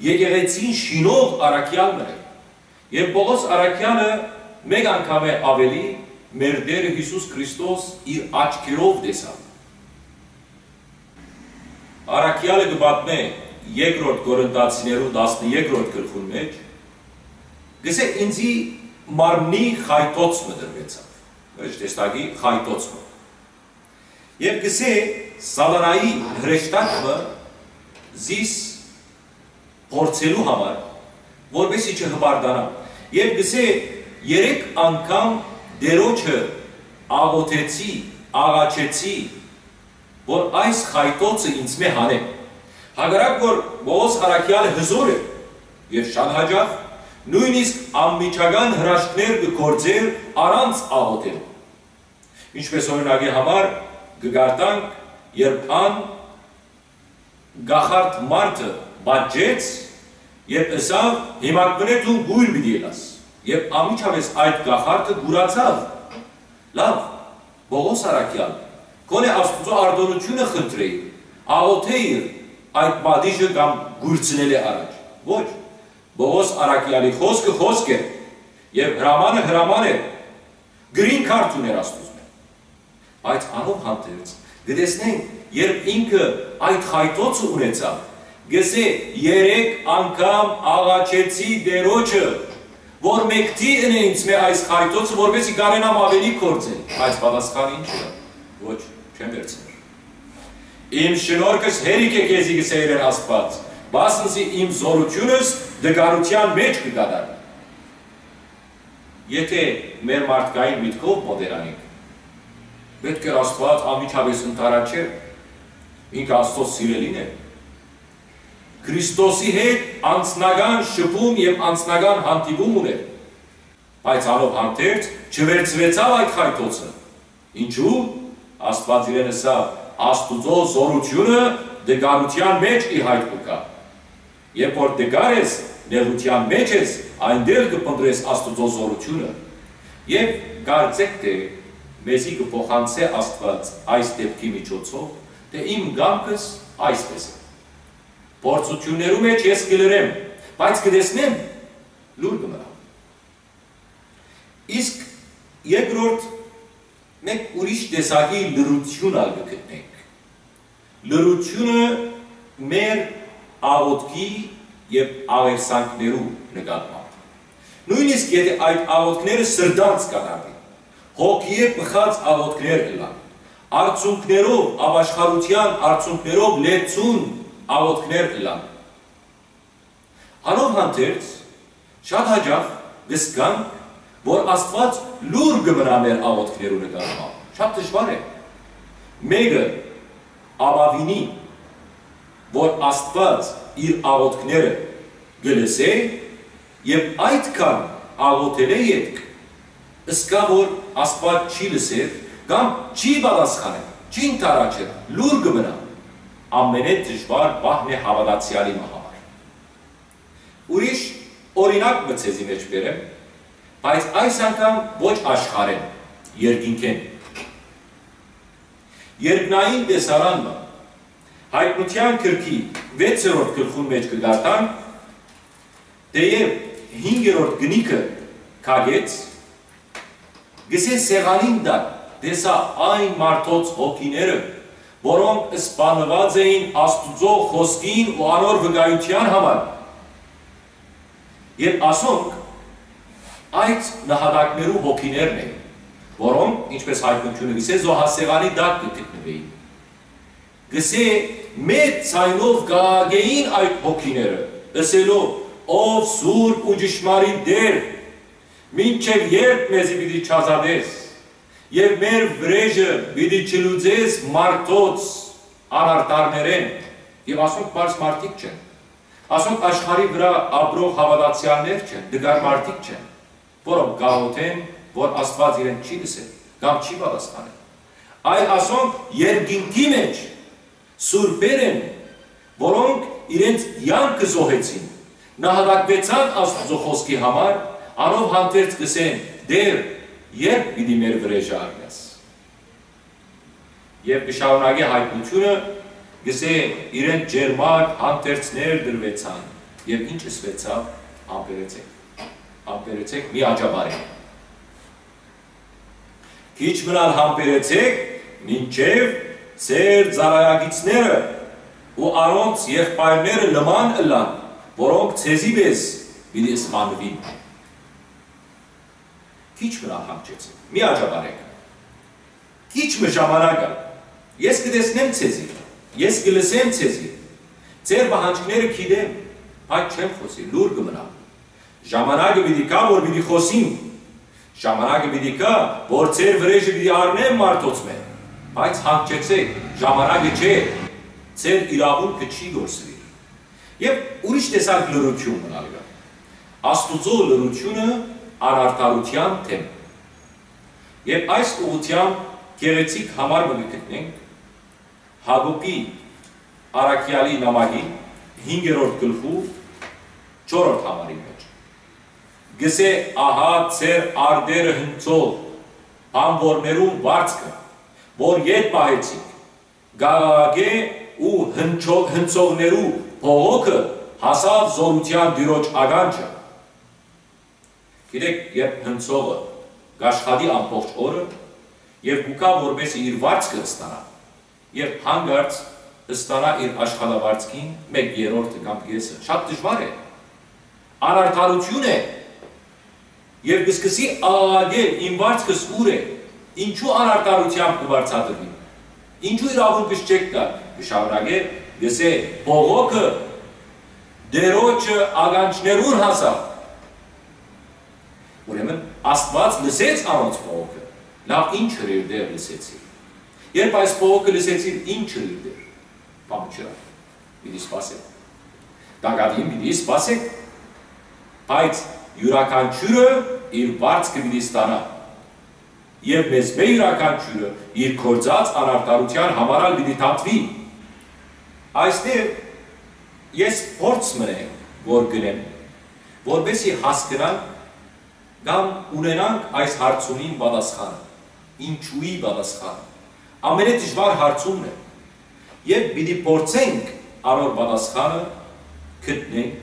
եկեղեցին շինող առաքեալ մը էր։ Եւ Պողոս առաքեալը մէկ անգամէ աւելի մեր Տէրը Յիսուս Քրիստոս իր աչքերով տեսաւ։ Առաքեալը կը պատմէ երկրորդ Կորինթացիներու տասներկրորդ գլխուն մէջ, կ'ըսէ. «Ինծի մարմնի խայտոց մը տրուեցաւ»։ Ուրիշ տեսակի խայտոց մը։ Եւ կ'ըսէ. «Սատանայի հրեշտակ մը զիս փորձելու համար, որպեսզի չհպարտանամ»։ Եւ կ'ըսէ. «Երեք անգամ Տիրոջը աղօթեցի, աղաչեցի, որ այս խայտոցը ինծմէ հանէ»։ Հակառակ որ Պողոս առաքեալը հզօր էր եւ շատ յաճախ նոյնիսկ անմիջական հրաշքներ կը գործէր առանց աղօթելու։ Ինչպես օրինակի համար կը կարդանք, երբ ան կախարդ մարդը պատժեց եւ ըսաւ. «Հիմա կ'ընէ դուն կոյր պիտի ելաս»։ Եւ անմիջապէս այդ կախարդը կուրացաւ։ Լաւ, Պողոս առաքեալ, գոնե Աստուծոյ արտօնութիւնը խնդրէիր, աղօթէիր այդ պատիժը կամ կուրցնելէ առաջ։ Ոչ, Պողոս առաքեալի խօսքը խօսք էր, եւ հրամանը հրաման էր, green card ունէր Աստուծմէ։ Բայց անով հանդերձ, կը տեսնենք, երբ ինքը այդ խայտոցը ունեցաւ, կ'ըսէ. «Երեք անգամ աղաչեցի Տիրոջը, որ մեկդի ընէ ինծմէ այս խայտոցը, որպեսզի կարենամ աւելի գործել»։ Բայց պատասխանը ի՞նչ ըլլայ։ Ոչ, չեմ վերցներ։ «Իմ շնորհքս հերիք է քեզի», կ'ըսէ իրեն Աստուած, «վասն զի իմ զօրութիւնս տկարութեան մէջ կը կատարի»։ Եթէ մեր մարդկային միտքով մոտենայինք, պէտք էր Աստուած անմիջապէս ընդառաջէ։ Ինքը Աստուծոյ սիրելին է։ Քրիստոսի հետ անձնական շփում եւ անձնական հանդիպում ունէր, բայց անով հանդերձ չվերցուեցաւ այդ խայտոցը։ Ինչու՞։ Աստուած իրեն ըսաւ. «Աստուծոյ զօրութիւնը տկարութեան մէջ ի յայտ կու գայ»։ Երբ որ տկար ես, նեղութեան մէջ ես, այնտեղ կը փնտռես Աստուծոյ զօրութիւնը։ Եւ կարծէք թէ մեզի կը փոխանցէ Աստուած այս դէպքի միջոցով, թէ իմ կամքս այսպէս է։ Փորձութիւններու մէջ ես կը լռեմ, բայց կը տեսնեմ, լուռ կը մնամ։ Իսկ երկրորդ, մենք ուրիշ տեսակի լռութիւն ալ կը գտնենք։ Լռութիւնը մեր աղօթքի եւ աղերսանքներու նկատմամբ։ Նոյնիսկ եթէ այդ աղօթքները սրտանց կատարուին, հոգիէ բխած աղօթքներ ըլլան, արցունքներով, ապաշխարութեան արցունքներով լեցուն աղօթքներ ըլլան։ Անով հանդերձ, շատ յաճախ կը զգանք, որ Աստուած լուռ կը մնայ մեր աղօթքներու նկատմամբ։ Շատ դժուար է։ Մէկը ապաւինի, որ Աստուած իր աղօթքները կը լսէ, եւ այդքան աղօթելէ ետք, ըսկայ որ Աստուած չի լսեր կամ չի պատասխաներ, չի ընդառաջեր, լուռ կը մնայ, ամենէ դժուար պահն է հաւատացեալի մը համար։ Ուրիշ օրինակ մը ձեզի մէջ բերեմ, Բայց այս անգամ ոչ աշխարհէն, երկինքէն։ Երկնային տեսարան մը։ Յայտնութեան գրքի վեցերորդ գլխուն մէջ կը կարդանք, թէեւ հինգերորդ կնիքը քագեց, կսէ սեղանին տակ տեսայ այն մարդոց հոգիները, որոնք սպաննուած էին Աստուծոյ խօսքին ու անոր վկայութեան համար։ Եւ ասոնք այդ նահատակներու հոգիներն էին, որոնք, ինչպես յայտնութիւնը կսէ, զոհասեղանի տակ կը գտնուէին։ Կսէ, մեծ ձայնով կ'աղաղէին այդ հոգիները, ըսելով. «Ով սուրբ ու ճշմարիտ Տէր, մինչեւ ե՞րբ մեզի պիտի չազատես եւ մեր վրէժը պիտի չլուծես մարդոց անարդարներէն»։ Եւ ասոնք պարզ մարդիկ չեն։ Ասոնք աշխարհի վրայ ապրող հաւատացեալներ չեն, տկար մարդիկ չեն, որոնք կ'աղօթեն, որ Աստուած իրեն չի լսեր կամ չի պատասխանել։ Այլ ասոնք երկինքի մէջ սուրբեր են, որոնք իրենց կեանքը զոհեցին, նահատակուեցան Աստուծոյ խօսքի համար, անով հանդերձ կ'ըսեն. «Տէր, ե՞րբ պիտի մեր վրէժը առնես»։ Եւ կը շարունակէ յայտնութիւնը, կ'ըսէ. «Իրեն ճերմակ հանդերձներ տրուեցան, եւ ի՞նչ ըսուեցաւ. Համբերեցէք, համբերեցէք, մի աճապարէք։ Քիչ մըն ալ համբերեցէք, մինչեւ ձեր ծառայակիցները ու անոնց եղբայրները նման ըլլան, որոնք ձեզի պէս պիտի սպանուին»։ Քիչ մըն ալ հանգչեցէք, մի աճապարէք։ Քիչ մը ժամանակ ա։ Ես կը տեսնեմ ձեզի, ես կը լսեմ ձեզի։ Ձեր պահանջները գիտեմ, բայց չեմ խօսիր, լուռ կը մնամ։ Ժամանակը պիտի գայ, որ պիտի խօսիմ։ Ժամանակը պիտի գայ, որ ձեր վրէժը պիտի առնեմ մարդոցմէ, բայց հանգչեցէք, ժամանակը չէ, ձեր իրաւունքը չի կորսուիր։ Եւ ուրիշ տեսակ լռութիւն մնալ կայ։ Աստուծոյ լռութիւնը անարդարութեան դէմ։ Եւ այս ուղղութեամբ գեղեցիկ համար մը կը գտնենք Յակոբի առաքեալի նամակին հինգերորդ գլխու չորրորդ համարին մէջ։ Կ'ըսէ. «Ահա ձեր արտերը հնձող բանուորներուն վարձքը, որ ետ պահեցիք, կ'աղաղակէ ու հնչո-, հնձողներու բողոքը հասաւ զօրութեան Տիրոջ ականջը»։ Գիտէք, երբ հնձողը կ'աշխատի ամբողջ օրը եւ կու գայ, որպէսզի իր վարձքը ստանայ, եւ հանկարծ ստանայ իր աշխատավարձքին մէկ երրորդը կամ կէսը, շատ դժուար է։ Անարդարութիւն է։ Եւ կը սկսի աղաղակել. «Իմ վարձքս ո՞ւր է, ինչու անարդարութեամբ կը վարձատրուի, ինչու իրաւունքս չեք տար»։ Կը շարունակէ, կ'ըսէ. «Բողոքը Տիրոջը ականջներուն հասաւ»։ Ուրեմն Աստուած լսեց անոնց բողոքը։ Լաւ, ինչ հրեշտակ լսեցի։ Երբ այս բողոքը լսեցի, ինչ հրեշտակ, բան չըրաւ, պիտի սպասեմ։ Տակատին պիտի սպասեմ, բայց իւրաքանչիւրը իր վարձքը պիտի ստանայ, եւ մեզմէ իւրաքանչիւրը իր գործած անարդարութեան համար ալ պիտի դատուի։ Այստեղ ես փորձ մը եմ, որ կ'ընեմ, որպէսզի հասկնանք կամ ունենանք այս հարցումին պատասխանը, ինչո՞ւ-ի պատասխանը։ Ամենեդժուար հարցումն է, եւ պիտի փորձենք անոր պատասխանը գտնենք,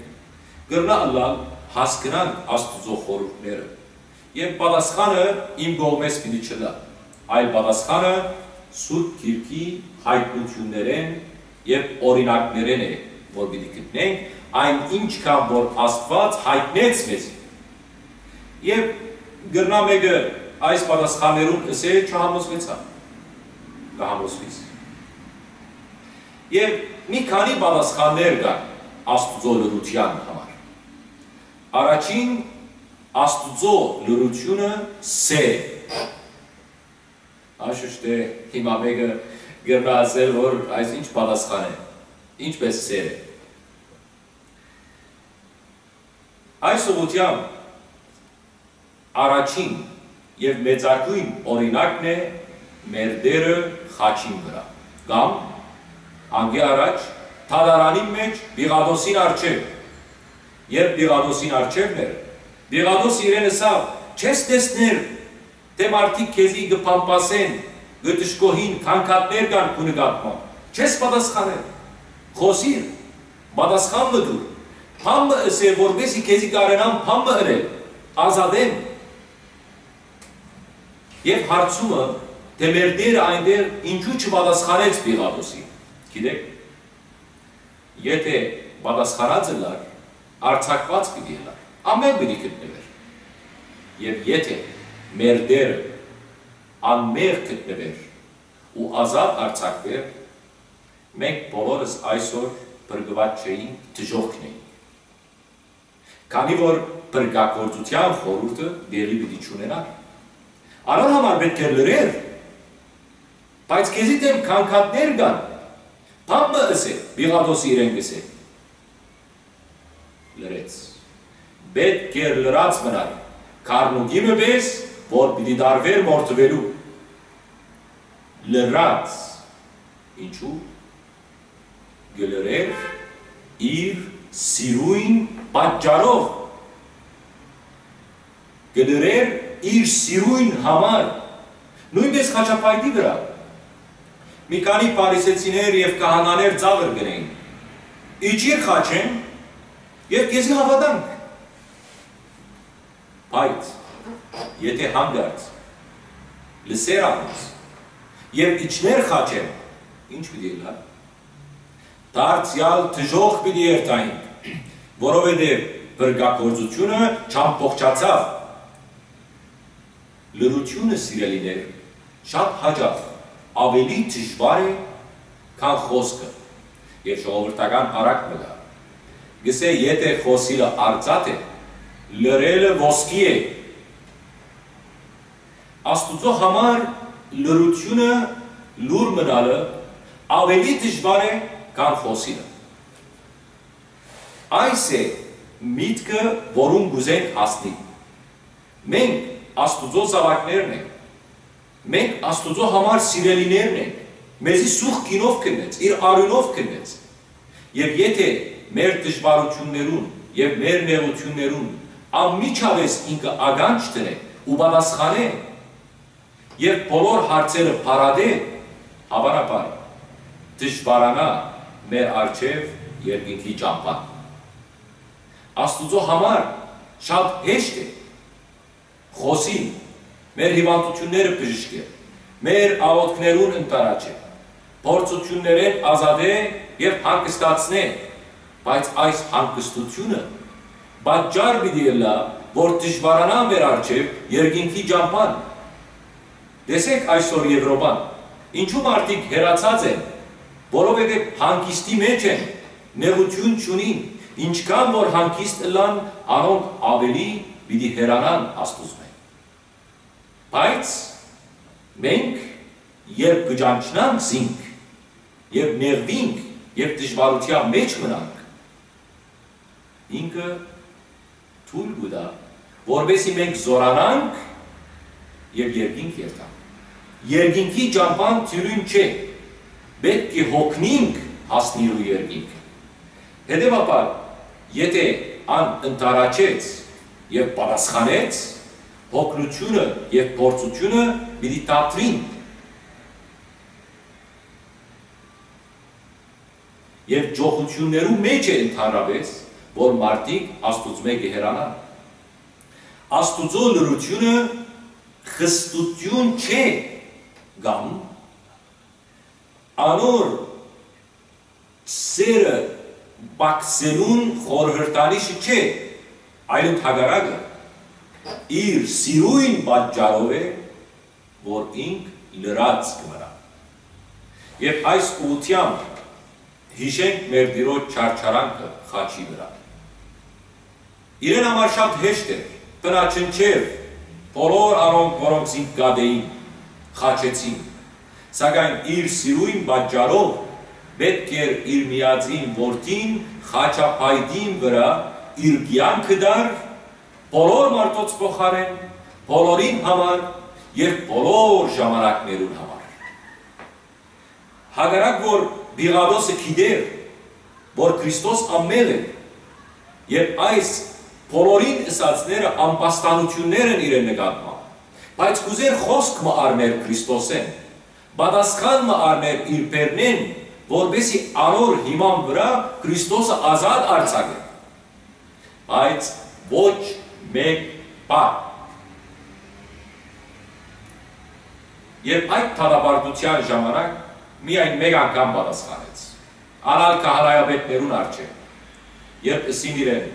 կրնայ ըլլալ հասկնանք Աստուծոյ խորհուրդները, եւ պատասխանը իմ կողմէս պիտի չըլլայ, այլ պատասխանը Սուրբ Գիրքի յայտնութիւններէն եւ օրինակներէն է, որ պիտի գտնենք այն, ինչքան որ Աստուած յայտնեց մեզի։ Եւ կրնայ մէկը այս պատասխաններուն ըսէ. «Չհամոզուեցայ»։ Կը համոզուիս։ Եւ մի քանի պատասխաններ կան Աստուծոյ լռութեան համար։ Առաջին, Աստուծոյ լռութիւնը սէր է։ Անշուշտ է, հիմա մէկը կրնայ ըսել, որ այս ինչ պատասխան է, ինչպէս սէր է։ Այս ուղղութեամբ առաջին եւ մեծագոյն օրինակն է մեր Տէրը խաչին վրայ, կամ անկէ առաջ դատարանին մէջ Պիղատոսին առջեւ։ Երբ Պիղատոսին առջեւն էր, Պիղատոս իրեն ըսաւ. Չես տեսներ թէ մարդիկ քեզի կը փամփասեն, կը դժգոհին, գանգատներ կան քու նկատմամբ։ Չես պատասխանել։ Խօսիր, պատասխան մը տուր։ Բան մը ըսէ, որպեսզի քեզի կարենամ բան մը ընել, ազատեմ։ Եւ հարցումը, թէ մեր Տէրը այնտեղ ինչու չպատասխանեց Պիղատոսին, գիտեք, եթէ պատասխանած ըլլար, արձակուած պիտի ըլլար, անմեղ պիտի գտնուէր։ Եւ եթէ մեր Տէրը անմեղ գտնուէր ու ազատ արձակուէր, մենք բոլորս այսօր փրկուած չէինք, դժոխքն էինք։ Քանի որ փրկագործութեան խորհուրդը տեղի պիտի չունենար։ Անոր համար պէտք էր լռեր, բայց քեզի դէմ գանգատներ կան, բան մը ըսէ, Պիղատոսը իրեն կ'ըսէ։ Լռեց։ Պէտք էր լռած մնար, քառնուկի մը պէս, որ պիտի տարուէր մորթուելու։ Լռած։ Ինչու՞։ Կը լռէր իր սիրոյն պատճառով։ Կը լռէր իր սիրոյն համար։ Նոյնպէս խաչափայտի վրայ։ Մի քանի փարիսեցիներ եւ քահանաներ ծաղր կ'ընէին։ Իջիր խաչէն եւ քեզի հաւատանք։ Բայց եթէ հանկարծ լսեր անոնց եւ իջներ խաչէն, ի՞նչ պիտի ըլլար։ Դարձեալ դժոխք պիտի երթայինք, որովհետեւ փրկագործութիւնը չամբողջացաւ։ Լռութիւնը, սիրելիներ, շատ յաճախ աւելի դժուար է, քան խօսքը, եւ ժողովրդական առակ մը կայ, կ'ըսէ, եթէ խօսիլը արծաթ է, լռելը ոսկի է։ Աստուծոյ համար լռութիւնը, լուռ մնալը աւելի դժուար է, քան խօսիլը։ Այս է միտքը, որուն կ'ուզենք հասնիլ։ Մենք Աստուծոյ զաւակներն ենք։ Մենք Աստուծոյ համար սիրելիներն ենք։ Մեզի սուղ գինով քննեց, իր արիւնով քննեց։ Եւ եթէ մեր դժուարութիւններուն եւ մեր նեղութիւններուն անմիջապէս ինքը ականջ դնէ ու պատասխանէ, եւ բոլոր հարցերը փարատէ, հաւանաբար դժուարանայ մեր առջեւ երկինքի ճամբան։ Աստուծոյ համար շատ հեշտ է խօսիլ, մեր հիւանդութիւնները բժշկել, մեր աղօթքներուն ընդառաջել, փորձութիւններէն ազատել եւ հանգստացնել, բայց այս հանգստութիւնը պատճառ պիտի ըլլայ, որ դժուարանայ մեր առջեւ երկինքի ճամբան։ Տեսէք այսօր Եւրոպան, ինչու մարդիկ հեռացած են, որովհետեւ հանգիստի մէջ են, նեղութիւն չունին, ինչքան որ հանգիստ ըլլան, անոնք աւելի պիտի հեռանան Աստուծմէ։ Բայց մենք, երբ կը ճանչնանք զինք, երբ նեղուինք, երբ դժուարութեան մէջ մնանք, ինքը թոյլ կու տայ, որպեսզի մենք զօրանանք եւ երկինք երթանք։ Երկինքի ճամբան թիւրին չէ, պէտք է յոգնինք հասնելու երկինքը։ Հետեւաբար, եթէ ան ընդառաջեց եւ պատասխանեց, յոգնութիւնը եւ փորձութիւնը պիտի դադրին։ Եւ ճոխութիւններու մէջ է ընդհանրապէս, որ մարդիկ Աստուծմէ կը հեռանան։ Աստուծոյ լռութիւնը խստութիւն չէ կամ անոր սերը պակսելուն խորհրդանիշը չէ, այլ ընդհակառակը, իր սիրոյն պատճառով է, որ ինք լռած կը մնայ։ Եւ այս ուղղութեամբ յիշենք մեր Տիրոջ չարչարանքը խաչի վրայ։ Իրեն համար շատ հեշտ էր, բնաջնջեր բոլոր անոնք, որոնք զինք կատէին, խաչեցին, սակայն իր սիրոյն պատճառով պէտք էր իր միածին որդին խաչափայտին վրայ իր կեանքը տար, բոլոր մարդոց փոխարէն, բոլորին համար եւ բոլոր ժամանակներուն համար։ Հակառակ որ Պիղատոսը գիտէր, որ Քրիստոս անմեղ է, եւ այս բոլորին ըսածները ամբաստանութիւններ են իրեն նկատմամբ, բայց կ'ուզէր խօսք մը առներ Քրիստոսէն, պատասխան մը առներ իր բեռնէն, որպէսզի անոր հիման վրայ Քրիստոսը ազատ արձակէ։ Բայց ոչ մէկ բառ։ Երբ այդ դատապարտութեան ժամանակ միայն մէկ անգամ պատասխանեց, ան ալ քահանայապետներուն առջեւ, երբ ըսին իրեն,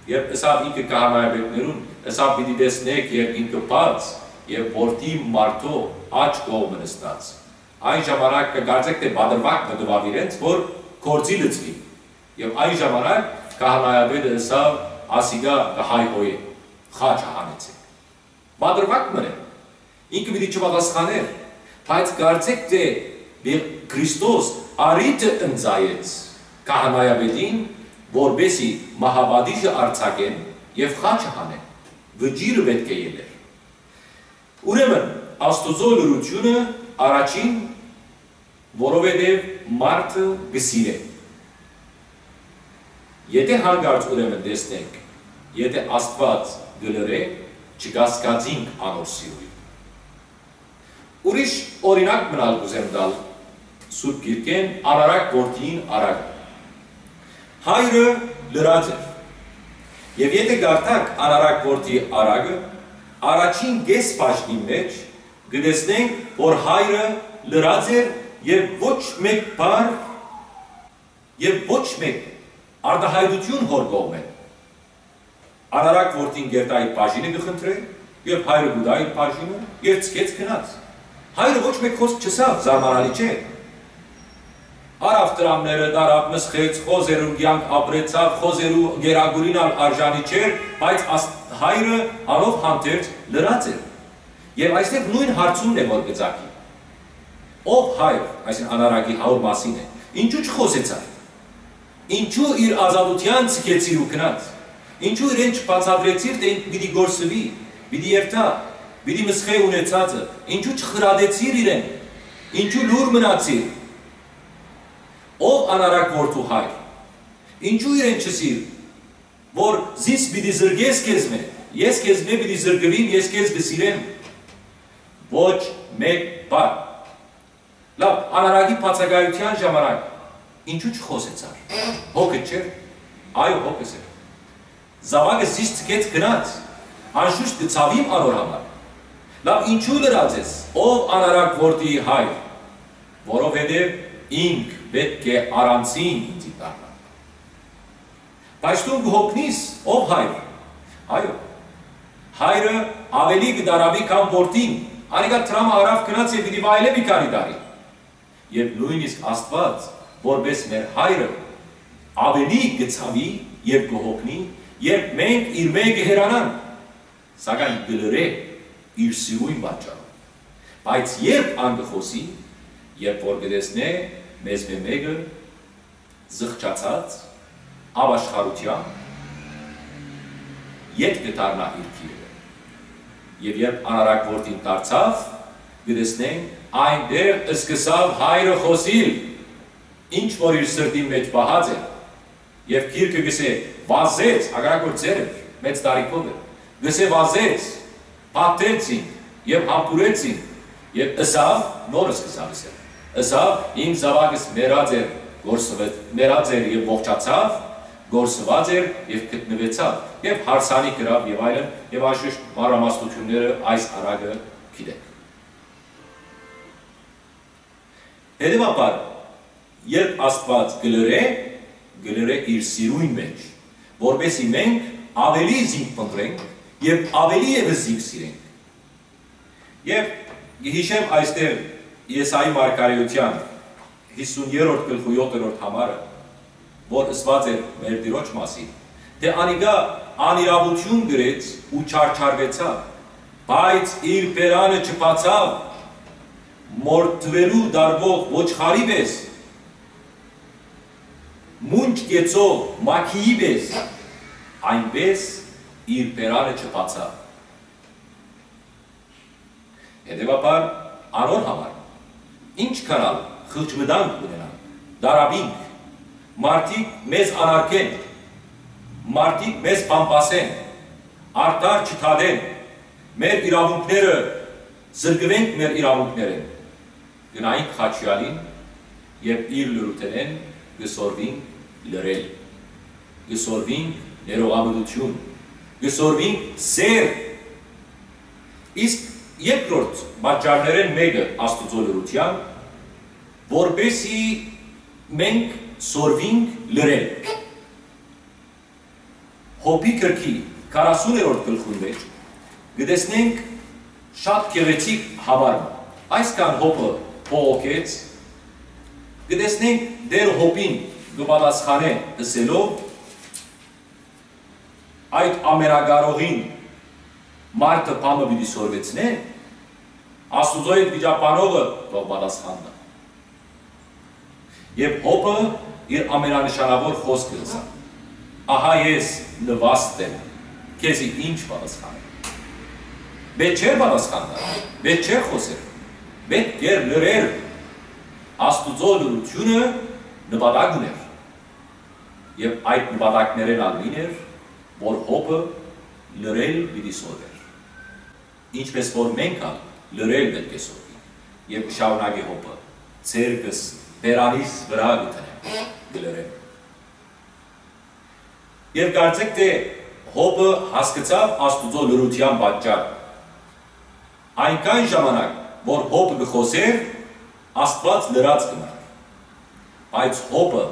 երբ ըսաւ ինքը քահանայապետներուն, ըսաւ. «Պիտի տեսնէք երկինքը բաց եւ որդի մարդոյ աջ կողմը նստած»։ Այն ժամանակ կը կարծէք թէ պատրուակ մը տուաւ իրենց, որ գործի լծուի։ Եւ այն ժամանակ քահանայապետը ըսաւ. «Ասիկա կը հայհոյէ, խաչը հանեցէք»։ Պատրուակ մը է։ Ինքը պիտի չպատասխանէր, բայց կարծէք թէ Քրիստոս առիթը ընծայեց քահանայապետին, որպէսզի մահապատիժը արձակեն եւ խաչը հանեն։ Վճիռը պէտք է ելլեր։ Ուրեմն, Աստուծոյ լռութիւնը առաջին, որովհետեւ մարդը կը սիրէ։ Եթէ յանկարծ ուրեմն տեսնենք, եթէ Աստուած կը լռէ, չկասկածինք անոր սիրոյն։ Ուրիշ օրինակ մըն ալ կ'ուզեմ տալ Սուրբ Գիրքէն, անարակ որդիին արարքը։ Հայրը լռած էր։ Եւ եթէ կարդաք անարակ որդի արարքը, առաջին կէս բաժնին մէջ կը տեսնենք, որ հայրը լռած էր եւ ոչ մէկ բառ եւ ոչ մէկ արտայայտութիւն հօր կողմէ։ Անարակ որդին կ'երթայ իր բաժինը կը խնդրէ, եւ հայրը կու տայ իր բաժինը, եւ ցկեց գնաց։ Հայրը ոչ մէկ խօսք չըսաւ, զարմանալի չէ։ Առաւ դրամները, տարաւ, մսխեց, խոզերուն կեանք ապրեցաւ, խոզերու գերագուրին ալ արժանի չէր, բայց աս-, հայրը անով հանդերձ լռած էր։ Եւ այստեղ նոյն հարցումն է, որ կը ծագի. «Ով հայր», այսինքն անարակի հայր մասին է, «ինչու չխօսեցար»։ Ինչու իր ազատութեան ցկեցիր ու գնաց։ Ինչու իրեն չբացատրեցիր, թէ ինք պիտի կորսուի, պիտի երթայ, պիտի մսխէ ունեցածը, ինչու չխրատեցիր իրեն, ինչու լուռ մնացիր։ Ով անարակ որդու հայր, ինչու իրեն չըսիր, որ զիս պիտի զրկես քեզմէ, ես քեզմէ պիտի զրկուիմ, ես քեզ կը սիրեմ։ Ոչ մէկ բառ։ Լավ, անարակի բացակայութեան ժամանակ ինչու չխօսեցար։ Հոգը չէ՞ր։ Այո, հոգս էր։ Զաւակը զիս ցկեց գնաց, անշուշտ կը ցաւիմ անոր համար։ Լավ, ինչու լռած ես, ով անարակ որդի հայր, որովհետեւ ինք պէտք է առանցին ինծի դառնայ։ Բայց դուն կը հոգնիս, ով հայր։ Այո, հայրը աւելի կը տարապի քան որդին, անիկա դրամը առաւ գնաց եւ պիտի վայելէ մի քանի տարի։ Եւ նոյնիսկ Աստուած, որպէս մեր հայրը, աւելի կը ցաւի եւ կը հոգնի, երբ մենք իրմէ կը հեռանանք, սակայն կը լռէ իր սիրոյն պատճառով։ Բայց երբ ան կը խօսի, երբ որ կը տեսնէ մեզմէ մէկը զղջացած, ապաշխարութեան, ետ կը դառնայ իր գիրը։ Եւ երբ անարակ որդին դարձաւ, կը տեսնենք, այնտեղ սկսաւ հայրը խօսիլ, ինչ որ իր սրտին մէջ պահած էր, եւ գիրքը կ'ըսէ, վազեց, հակառակ որ ծեր էր, մեծ տարիքով էր, կ'ըսէ, վազեց, փաթթեց զինք եւ համբուրեց զինք, եւ ըսաւ, նոր սկսաւ ըսել, ըսաւ. «Իմ զաւակս մեռած էր, կորսուեց, մեռած էր եւ ողջացաւ, կորսուած էր եւ գտնուեցաւ», եւ հարսանիք ըրաւ եւ այլն, եւ անշուշտ մանրամասնութիւնները այս անարակը գիտենք։ Հետեւաբար, երբ Աստուած կը լռէ, կը լռէ իր սիրոյն մէջ, որպէսզի մենք աւելի զինք փնտռենք եւ աւելի եւս զինք սիրենք։ Եւ կը յիշեմ այստեղ Եսայի մարգարէութեան յիսուներորդ գլխու յոթերորդ համարը, որ ըսուած էր մեր Տիրոջ մասին, թէ անիկա անիրաւութիւն կրեց ու չարչարուեցաւ, բայց իր բերանը չբացաւ, մորթուելու տարուող ոչխարի պէս, մունջ կեցող մագիի պէս, այնպէս իր բերանը չբացաւ։ Հետեւաբար, անոր համար, ինչքան ալ խղճմտանք ունենանք, տարապինք, մարդիկ մեզ անարգեն, Մարդիկ մեզ բամբասեն, արդար չդատեն, մեր իրաւունքները, զրկուենք մեր իրաւունքներէն, կը նայենք խաչեալին եւ իր լրութենէն կը սորվինք լռել, կը սորվինք ներողամտություն, կը սորվինք սեր։ Իսկ երկրորդ պատճառներէն մէկը Աստուծոյ լռութեան, որպեսզի մենք սորվինք լռել։ Յոբի գրքի քառասուներորդ գլխուն մէջ կը տեսնենք շատ գեղեցիկ համար մը։ Այսքան Յոբը բողոքեց, կը տեսնենք Տէր Յոբին կը պատասխանէ ըսելով. «Այդ ամենակարողին մարդը բան մը պիտի սորվեցնէ, Աստուծոյ հետ վիճաբանողը թող պատասխան տայ»։ Եւ Յոբը իր ամենանշանաւոր խօսքը ըսաւ. «Ահա ես նուաստ եմ, քեզի ի՞նչ պատասխանեմ»։ Պէտք չէր պատասխան տայ, պէտք չէր խօսեր, պէտք էր լռեր։ Աստուծոյ լռութիւնը նպատակ ունէր, եւ այդ նպատակներէն ալ մին էր, որ Յոբը լռել պիտի սորվէր։ Ինչպէս որ մենք ալ լռել պէտք է սովորենք, եւ կը շարունակէ Յոբը. «Ձեռքս բերանիս վրայ կը դնեմ, կը լռեմ»։ Եւ կարծէք թէ Յոբը հասկցաւ Աստուծոյ լռութեան պատճառը։ Այնքան ժամանակ, որ Յոբը կը խօսէր, Աստուած լռած կը մնար։ Բայց Յոբը,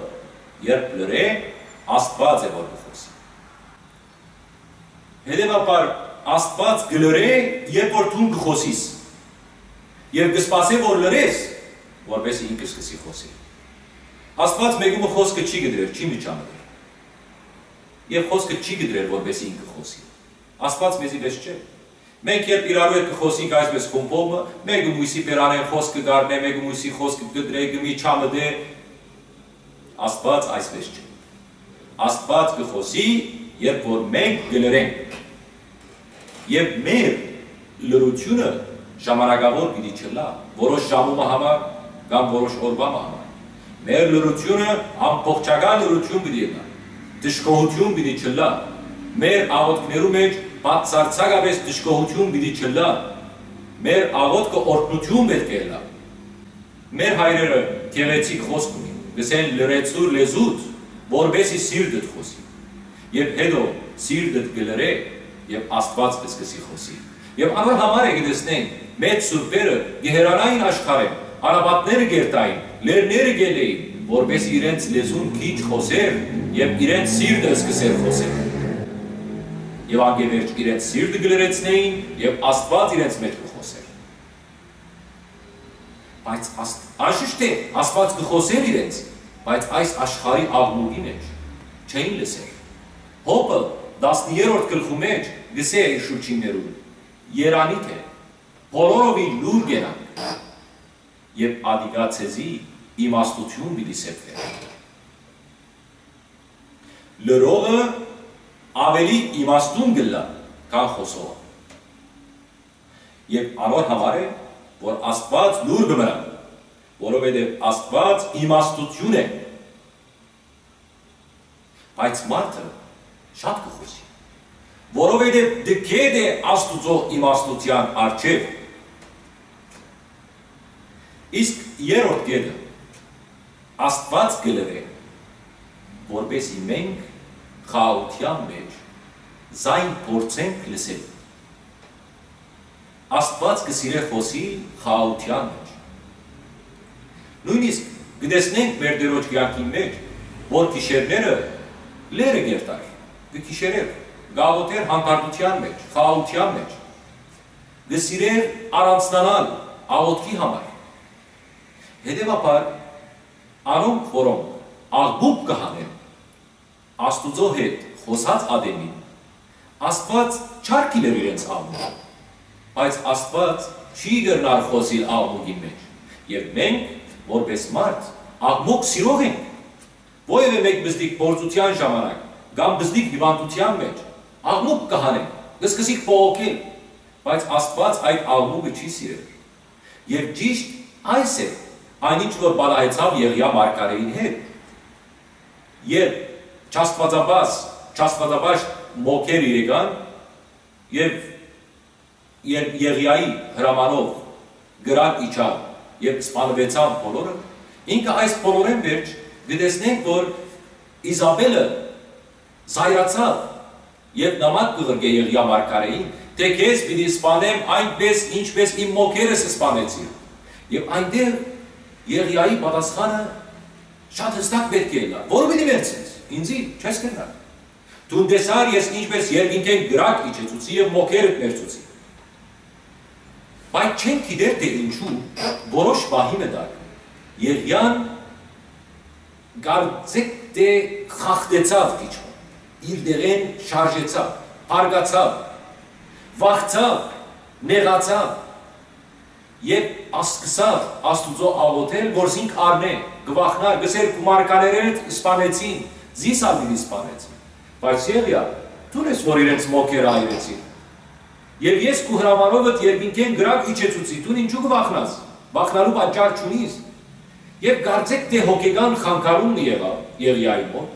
երբ լռէ, Աստուած է, որ կը խօսի։ Հետեւաբար, Աստուած կը լռէ, երբ որ դուն կը խօսիս, եւ կը սպասէ, որ լռես, որպեսզի ինքը սկսի խօսել։ Աստուած մէկու մը խօսքը չի կտրեր, չի միջամտեր, եւ խօսքը չի կտրեր, որպեսզի ինքը խօսի։ Աստուած մեզի պէս չէ։ Մենք երբ իրարու հետ կը խօսենք այսպես խումբով մը, մէկը մոյսի բերանէն խօսքը կ'առնէ, մէկը մոյսի խօսքը կտրէ, կը միջամտէ, Աստուած այսպես չէ։ Աստուած կը խօսի, երբ որ մենք կը լռենք։ Եւ մեր լռութիւնը ժամանակաւոր պիտի չըլլայ, որոշ ժամու մը համար կամ որոշ օրուայ մը համար։ Մեր լռութիւնը ամբողջական լռութիւն պիտի ըլլայ, դժգոհութիւն պիտի չըլլայ։ Մեր աղօթքներու մէջ բացարձակապէս դժգոհութիւն պիտի չըլլայ։ Մեր աղօթքը օրհնութիւն պէտք է ըլլայ։ Մեր հայրերը գեղեցիկ խօսք ունին, կ'ըսեն. «Լռեցու՛ր լեզուդ, որպեսզի սիրտդ խօսի»։ Եւ հետո սիրտդ կը լռէ, եւ Աստուած կը սկսի խօսիլ։ Եւ անոր համար է կը տեսնենք, մեծ սուրբերը կը հեռանային աշխարհէն, անապատները կ'երթային, լեռները կ'ելլէին, որպեսզի իրենց լեզուն քիչ խօսէր եւ իրենց սիրտը սկսէր խօսել։ Եւ անկէ վերջ իրենց սիրտը կը լռեցնէին եւ Աստուած իրենց մէջ կը խօսէր։ Բայց Աստ-, անշուշտ է, Աստուած կը խօսէր իրենց, բայց այս աշխարհի աղմուկի մէջ չէին լսեր։ Յոբը տասներորդ գլխու մէջ կ'ըսէ իր շուրջիններուն. «Երանի թէ, բոլորովին լուռ կենաք, եւ ատիկա ձեզի իմաստութիւն պիտի սեպվէ»։ Լռողը աւելի իմաստուն կ'ըլլայ, քան խօսողը։ Եւ անոր համար է, որ Աստուած լուռ կը մնայ, որովհետեւ Աստուած իմաստութիւն է։ Բայց մարդը շատ կը խօսի, որովհետեւ դքետ է Աստուծոյ իմաստութեան առջեւ։ Իսկ երրորդ կետը, Աստուած կը լռէ, որպեսզի մենք խաղաղութեան մէջ զայն փորձենք լսել։ Աստուած կը սիրէ խօսիլ խաղաղութեան մէջ։ Նոյնիսկ կը տեսնենք մեր Տիրոջ կեանքին մէջ, որ գիշերները լեռը կ'երթար, կը գիշերէր, կ'աղօթէր հանդարտութեան մէջ, խաղաղութեան մէջ, կը սիրէր առանձնանալ աղօթքի համար։ Հետեւաբար, անոնք, որոնք աղմուկ կը հանեն, Աստուծոյ հետ խօսած ատենին, Աստուած չ'արգիլեր իրենց աղմուկը, բայց Աստուած չի կրնար խօսիլ աղմուկին մէջ, եւ մենք, որպէս մարդ, աղմուկ սիրող ենք։ Որեւէ մէկ պզտիկ փորձութեան ժամանակ կամ պզտիկ հիւանդութեան մէջ աղմուկ կը հանենք, կը սկսենք բողոքել, բայց Աստուած այդ աղմուկը չի սիրեր։ Եւ ճիշտ այս է այն, ինչ որ պատահեցաւ Եղիա մարգարէին հետ։ Երբ չաստուածաբազ Չաստուածապաշտ մոգեր եկան եւ Ե-, Եղիայի հրամանով կրակ իջան եւ սպանուեցան բոլորը, ինքը այս բոլորէն վերջ կը տեսնենք, որ Իզապէլը զայրացաւ եւ նամակ կը ղրկէ Եղիա մարգարէին, թէ քեզ պիտի սպանեմ այնպէս, ինչպէս իմ մոգերս սպանեցին։ Եւ այնտեղ Եղիայի պատասխանը շատ հստակ պէտք է ըլլար. «Որո պիտի մեռցնես, ինծի չես կրնար»։ Դուն տեսար ես ինչպէս երկինքէն կրակ իջեցուցի եւ մոգերդ մեռցուցի։ Բայց չենք գիտեր թէ ինչու, որոշ պահի մը տակ Եղիան կարծեք թէ խախտեցաւ քիչ մը, իր դեղէն շարժեցաւ, փառկացաւ, վախցաւ, նեղացաւ եւ ասկսաւ Աստուծոյ աղօթել, որ զինք առնէ, կը վախնար, կ'ըսէր. «Քու մարգարէներդ սպանեցին, զիս ալ պիտի սպանեցին»։ Բայց Եղիա, դուն ես, որ իրենց մոգերը այրեցին։ Եւ ես քու հրամանովդ երկինքէն կրակ իջեցուցի, դուն ինչու կը վախնաս, վախնալու պատճառ չունիս։ Եւ կարծեք թէ հոգեկան խանգարում մը եղաւ Եղիայի մօտ,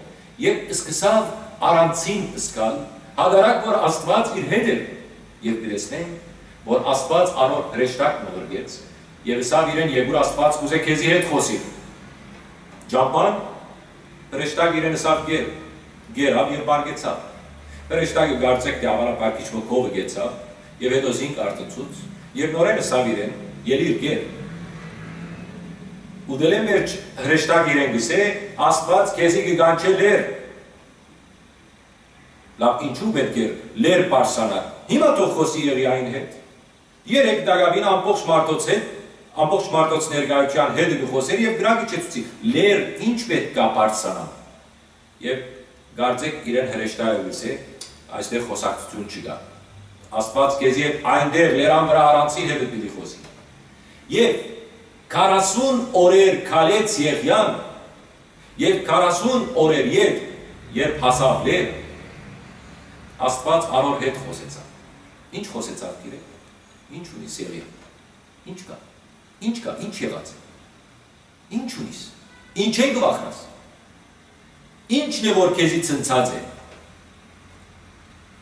եւ սկսաւ առանձին զգալ, հակառակ որ Աստուած իր հետ էր, եւ կը տեսնենք, որ Աստուած անոր հրեշտակ մը ղրկեց, եւ ըսաւ իրեն. «Եկուր, Աստուած կ'ուզէ քեզի հետ խօսիլ»։ Ճամբան հրեշտակ իրեն ըսաւ. «Կեր»։ Կերաւ եւ պառկեցաւ։ Հրեշտակը կարծեք թէ աւարապար քիչ մը քովը գեցաւ, եւ հետո զինք արթնցուց, եւ նորէն ըսաւ իրեն. «Ելի՛ր, կեր»։ Ուտելէն վերջ հրեշտակ իրեն կ'ըսէ. «Աստուած քեզի կը կանչէ լեր»։ Լաւ, ինչու պէտք էր լեր բարձրանար։ Հիմա թող խօսի Եղիային հետ։ Երեկ տակաւին ամբողջ մարդոց հետ, ամբողջ մարդոց ներկայութեան հետ կը խօսէր եւ կրակ իջեցուցի. «Լեր, ինչ պէտք կա բարձրանամ»։ Եւ կարծեք իրեն հրեշտակը կ'ըսէ. «Այստեղ խօսակցութիւն չկայ։ Աստուած քեզի հետ այնտեղ լերան վրայ առանձին հետ պիտի խօսի»։ Եւ քառասուն օրեր քալեց Եղիան, եւ քառասուն օրեր յետ, երբ հասաւ լեր, Աստուած անոր հետ խօսեցաւ։ Ինչ խօսեցաւ գիրեկ։ Ինչ ունի Եղիա։ Ինչ կա։ Ինչ կա, ինչ եղած է։ Ինչ ունիս։ Ինչէն կը վախնաս։ Ի՞նչն է, որ քեզի ցնցած է։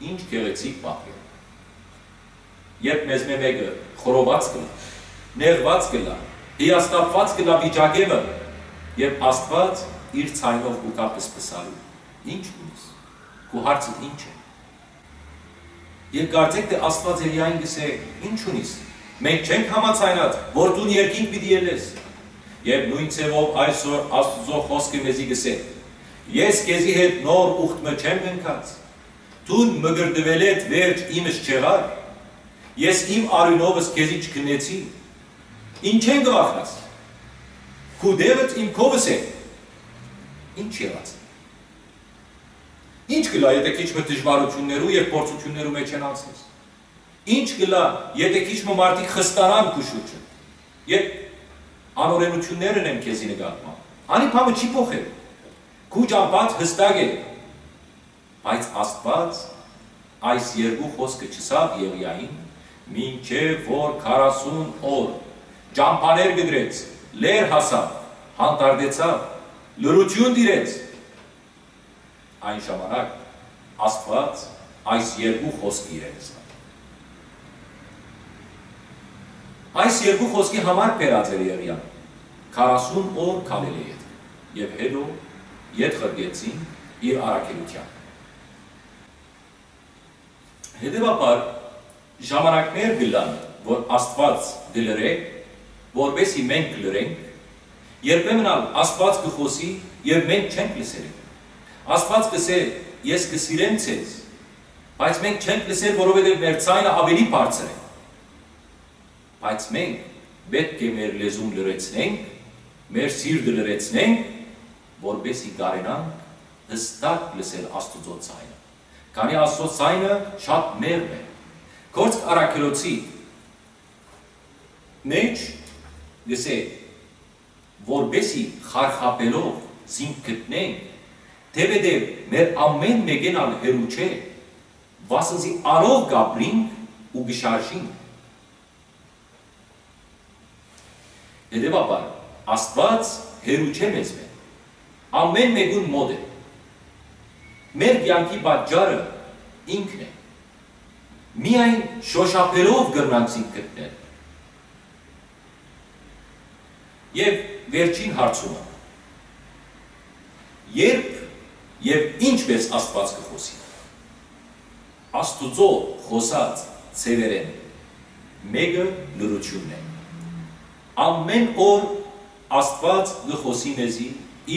Ինչ գեղեցիկ պահ է, երբ մեզմէ մէկը խորոված կ'ըլլայ, նեղուած կ'ըլլայ, հիասթափուած կ'ըլլայ վիճակէ մը, եւ Աստուած իր ձայնով կու գայ պսպսալու. «Ի՞նչ ունիս։ Քու հարցդ ի՞նչ է»։ Եւ կարծեք թէ Աստուած Եղիային կ'ըսէ. «Ի՞նչ ունիս։ Մենք չենք համաձայնած, որ դուն երկինք պիտի ելլես»։ Եւ նոյն ձեւով այսօր Աստուծոյ խօսքը մեզի կ'ըսէ. «Ես քեզի հետ նոր ուխտ մը չեմ կնքած։ Դուն մկրտուելէդ վերջ իմս չեղար։ Ես իմ արիւնովս քեզի չքննեցի։ Ինչէն կը վախնաս։ Քու դեղդ իմ քովս է»։ Ինչ եղած է։ Ի՞նչ կ'ըլլայ, եթէ քիչ մը դժուարութիւններու եւ փորձութիւններու մէջ են անցնես։ Ի՞նչ կ'ըլլայ, եթէ քիչ մը մարդիկ խստանան քու շուրջը, երբ անօրենութիւններ ընեն քեզի նկատմամբ։ Անի բանը չի փոխեր։ Քու ճամբադ յստակ է։ Բայց Աստուած այս երկու խօսքը չըսաւ Եղիային, մինչեւ որ քառասուն օր ճամբաներ կտրեց, լեր հասաւ, հանդարտեցաւ, լռութիւն տիրեց։ Այն ժամանակ Աստուած այս երկու խօսքը իրեն ըսաւ։ Այս երկու խօսքի համար բերած էր Եղիան, քառասուն օր քալելէ ետք, եւ հետո ետ ղրկեցին իր առաքելութեան։ Հետեւաբար, ժամանակներ կ'ըլլան, որ Աստուած կը լռէ, որպէսզի մենք լռենք, երբեմն ալ Աստուած կը խօսի եւ մենք չենք լսեր։ Աստուած կ'ըսէ. «Ես կը սիրեմ ձեզ», բայց մենք չենք լսեր, որովհետեւ մեր ձայնը աւելի բարձր է։ Բայց մենք պէտք է մեր լեզուն լռեցնենք, մեր սիրտը լռեցնենք, որպէսզի կարենանք յստակ լսել Աստուծոյ ձայնը, քանի Աստուծոյ ձայնը շատ մեղմ է։ Գործք Առաքելոցի մէջ կ'ըսէ. «Որպէսզի խարխափելով զինք գտնենք, թէպէտեւ մեր ամէն մէկէն ալ հեռու չէ, վասն զի անով կ'ապրինք ու կը շարժինք»։ Հետեւաբար, Աստուած հեռու չէ մեզմէ, ամէն մէկուն մօտ է։ Մեր կեանքի պատճառը ինքն է։ Միայն շօշափելով կրնանք զինք գտնել։ Եւ վերջին հարցումը. երբ եւ ինչպես Աստուած կը խօսի։ Աստուծոյ խօսած ձեւերէն մէկը լռութիւնն է։ Ամէն օր Աստուած կը խօսի մեզի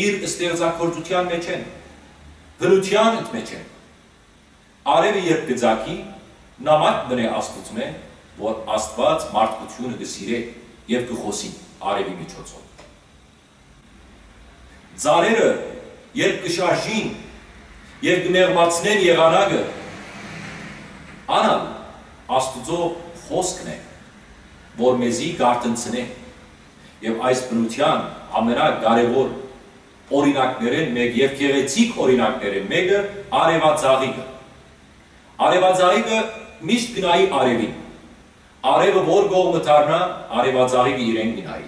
իր ստեղծագործութեան մէջէն, բնութեան մէջէն։ Արեւը երբ կը ծագի, նամակ մնէ Աստուծմէ, որ Աստուած մարդկութիւնը կը սիրէ եւ կը խօսի արեւի միջոցով։ Ծառերը երբ կը շարժին եւ կը մեղմացնեն եղանակը, ան ալ Աստուծոյ խօսքն է, որ մեզի կ'արթնցնէ։ Եւ այս բնութեան ամենակարեւոր օրինակներէն մէկ եւ գեղեցիկ օրինակներէն մէկը արեւածաղիկը։ Արեւածաղիկը միշտ կը նայի արեւին։ Արեւը որ կողմը դառնայ, արեւածաղիկը իրեն կը նայի։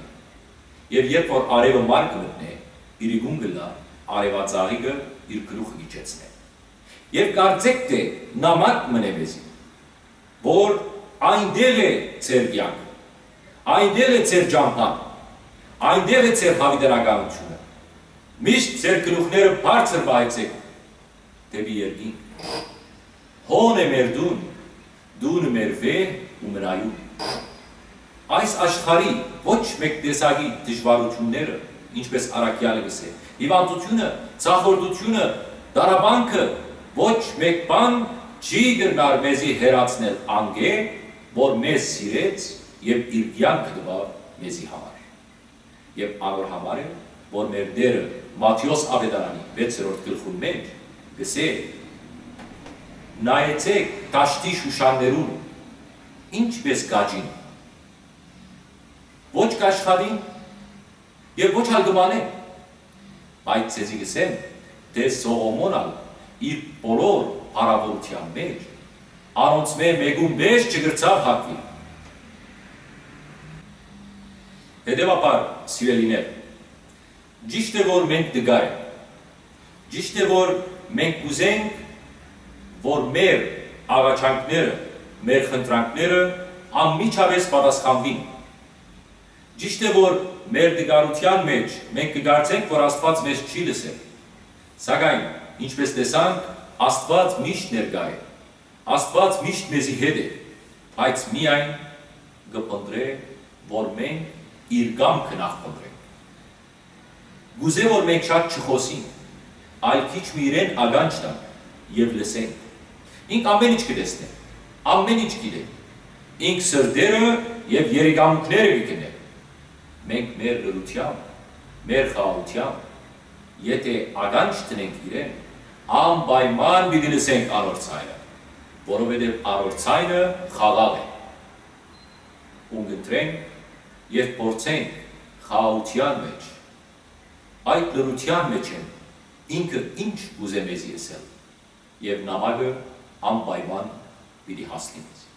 Եւ երբ որ արեւը մար կը մտնէ, իրիկուն կ'ըլլայ, արեւածաղիկը իր գլուխը կ'իջեցնէ։ Եւ կարծէք թէ նամակ մնէ մեզի, որ այնտեղ է ձեր կեանքը, այնտեղ է ձեր ճամբան, այնտեղ է ձեր յաւիտենականութիւնը։ Միշտ ձեր գլուխները բարձր պահեցէք դէպի երկինք։ Հոն է մեր տուն, տունը մեր վեհ ու մնայուն։ Այս աշխարհի ոչ մէկ տեսակի դժուարութիւնները, ինչպես առաքեալը կ'ըսէ, հիւանդութիւնը, ձախորդութիւնը, տառապանքը, ոչ մէկ բան չի կրնար մեզի հեռացնել անկէ, որ մեզ սիրեց եւ իր կեանքը տուաւ մեզի համար։ Եւ անոր համար է, որ մեր Տէրը Մատթէոս աւետարանի վեցերորդ գլխուն մէջ կ'ըսէ. «Նայեցէք դաշտի շուշաններուն, ինչպես կ'աճին, ոչ կ'աշխատին եւ ոչ ալ կը մանեն, բայց ձեզի կ'ըսեմ, թէ Սողոմոն ալ իր բոլոր փառաւորութեան մէջ անոնցմէ մէկուն պէս չկրցաւ հագուիլ»։ Հետեւաբար, սիրելիներ, ճիշդ է, որ մենք տկար ենք, ճիշդ է, որ մենք կ'ուզենք, որ մեր աղաչանքները, մեր խնդրանքները անմիջապէս պատասխանուին։ Ճիշդ է, որ մեր տկարութեան մէջ մենք կը կարծենք, որ Աստուած մեզ չի լսեր, սակայն, ինչպես տեսանք, Աստուած միշտ ներկայ է, Աստուած միշտ մեզի հետ է, բայց միայն կը փնտռէ, որ մենք իր կամքը նախ փնտռենք։ Կ'ուզէ, որ մենք շատ չխօսենք, այլ քիչ մը իրեն ականջ տանք եւ լսենք։ Ինք ամէն ինչ կը տեսնէ, ամէն ինչ գիտէ։ Ինք սրտերը եւ երիկամուքները կը գնէ։ Մենք մեր լռութեամբ, մեր խաղաղութեամբ, եթէ ականջ դնենք իրեն, անպայման պիտի լսենք անոր ձայնը, որովհետեւ անոր ձայնը խաղաղ է։ Ուն կ'ընտրենք եւ փորձենք խաղաղութեան մէջ, այդ լռութեան մէջ են ինքը ինչ կ'ուզէ մեզի ըսել, եւ նամակը անպայման պիտի հասնի մեզի։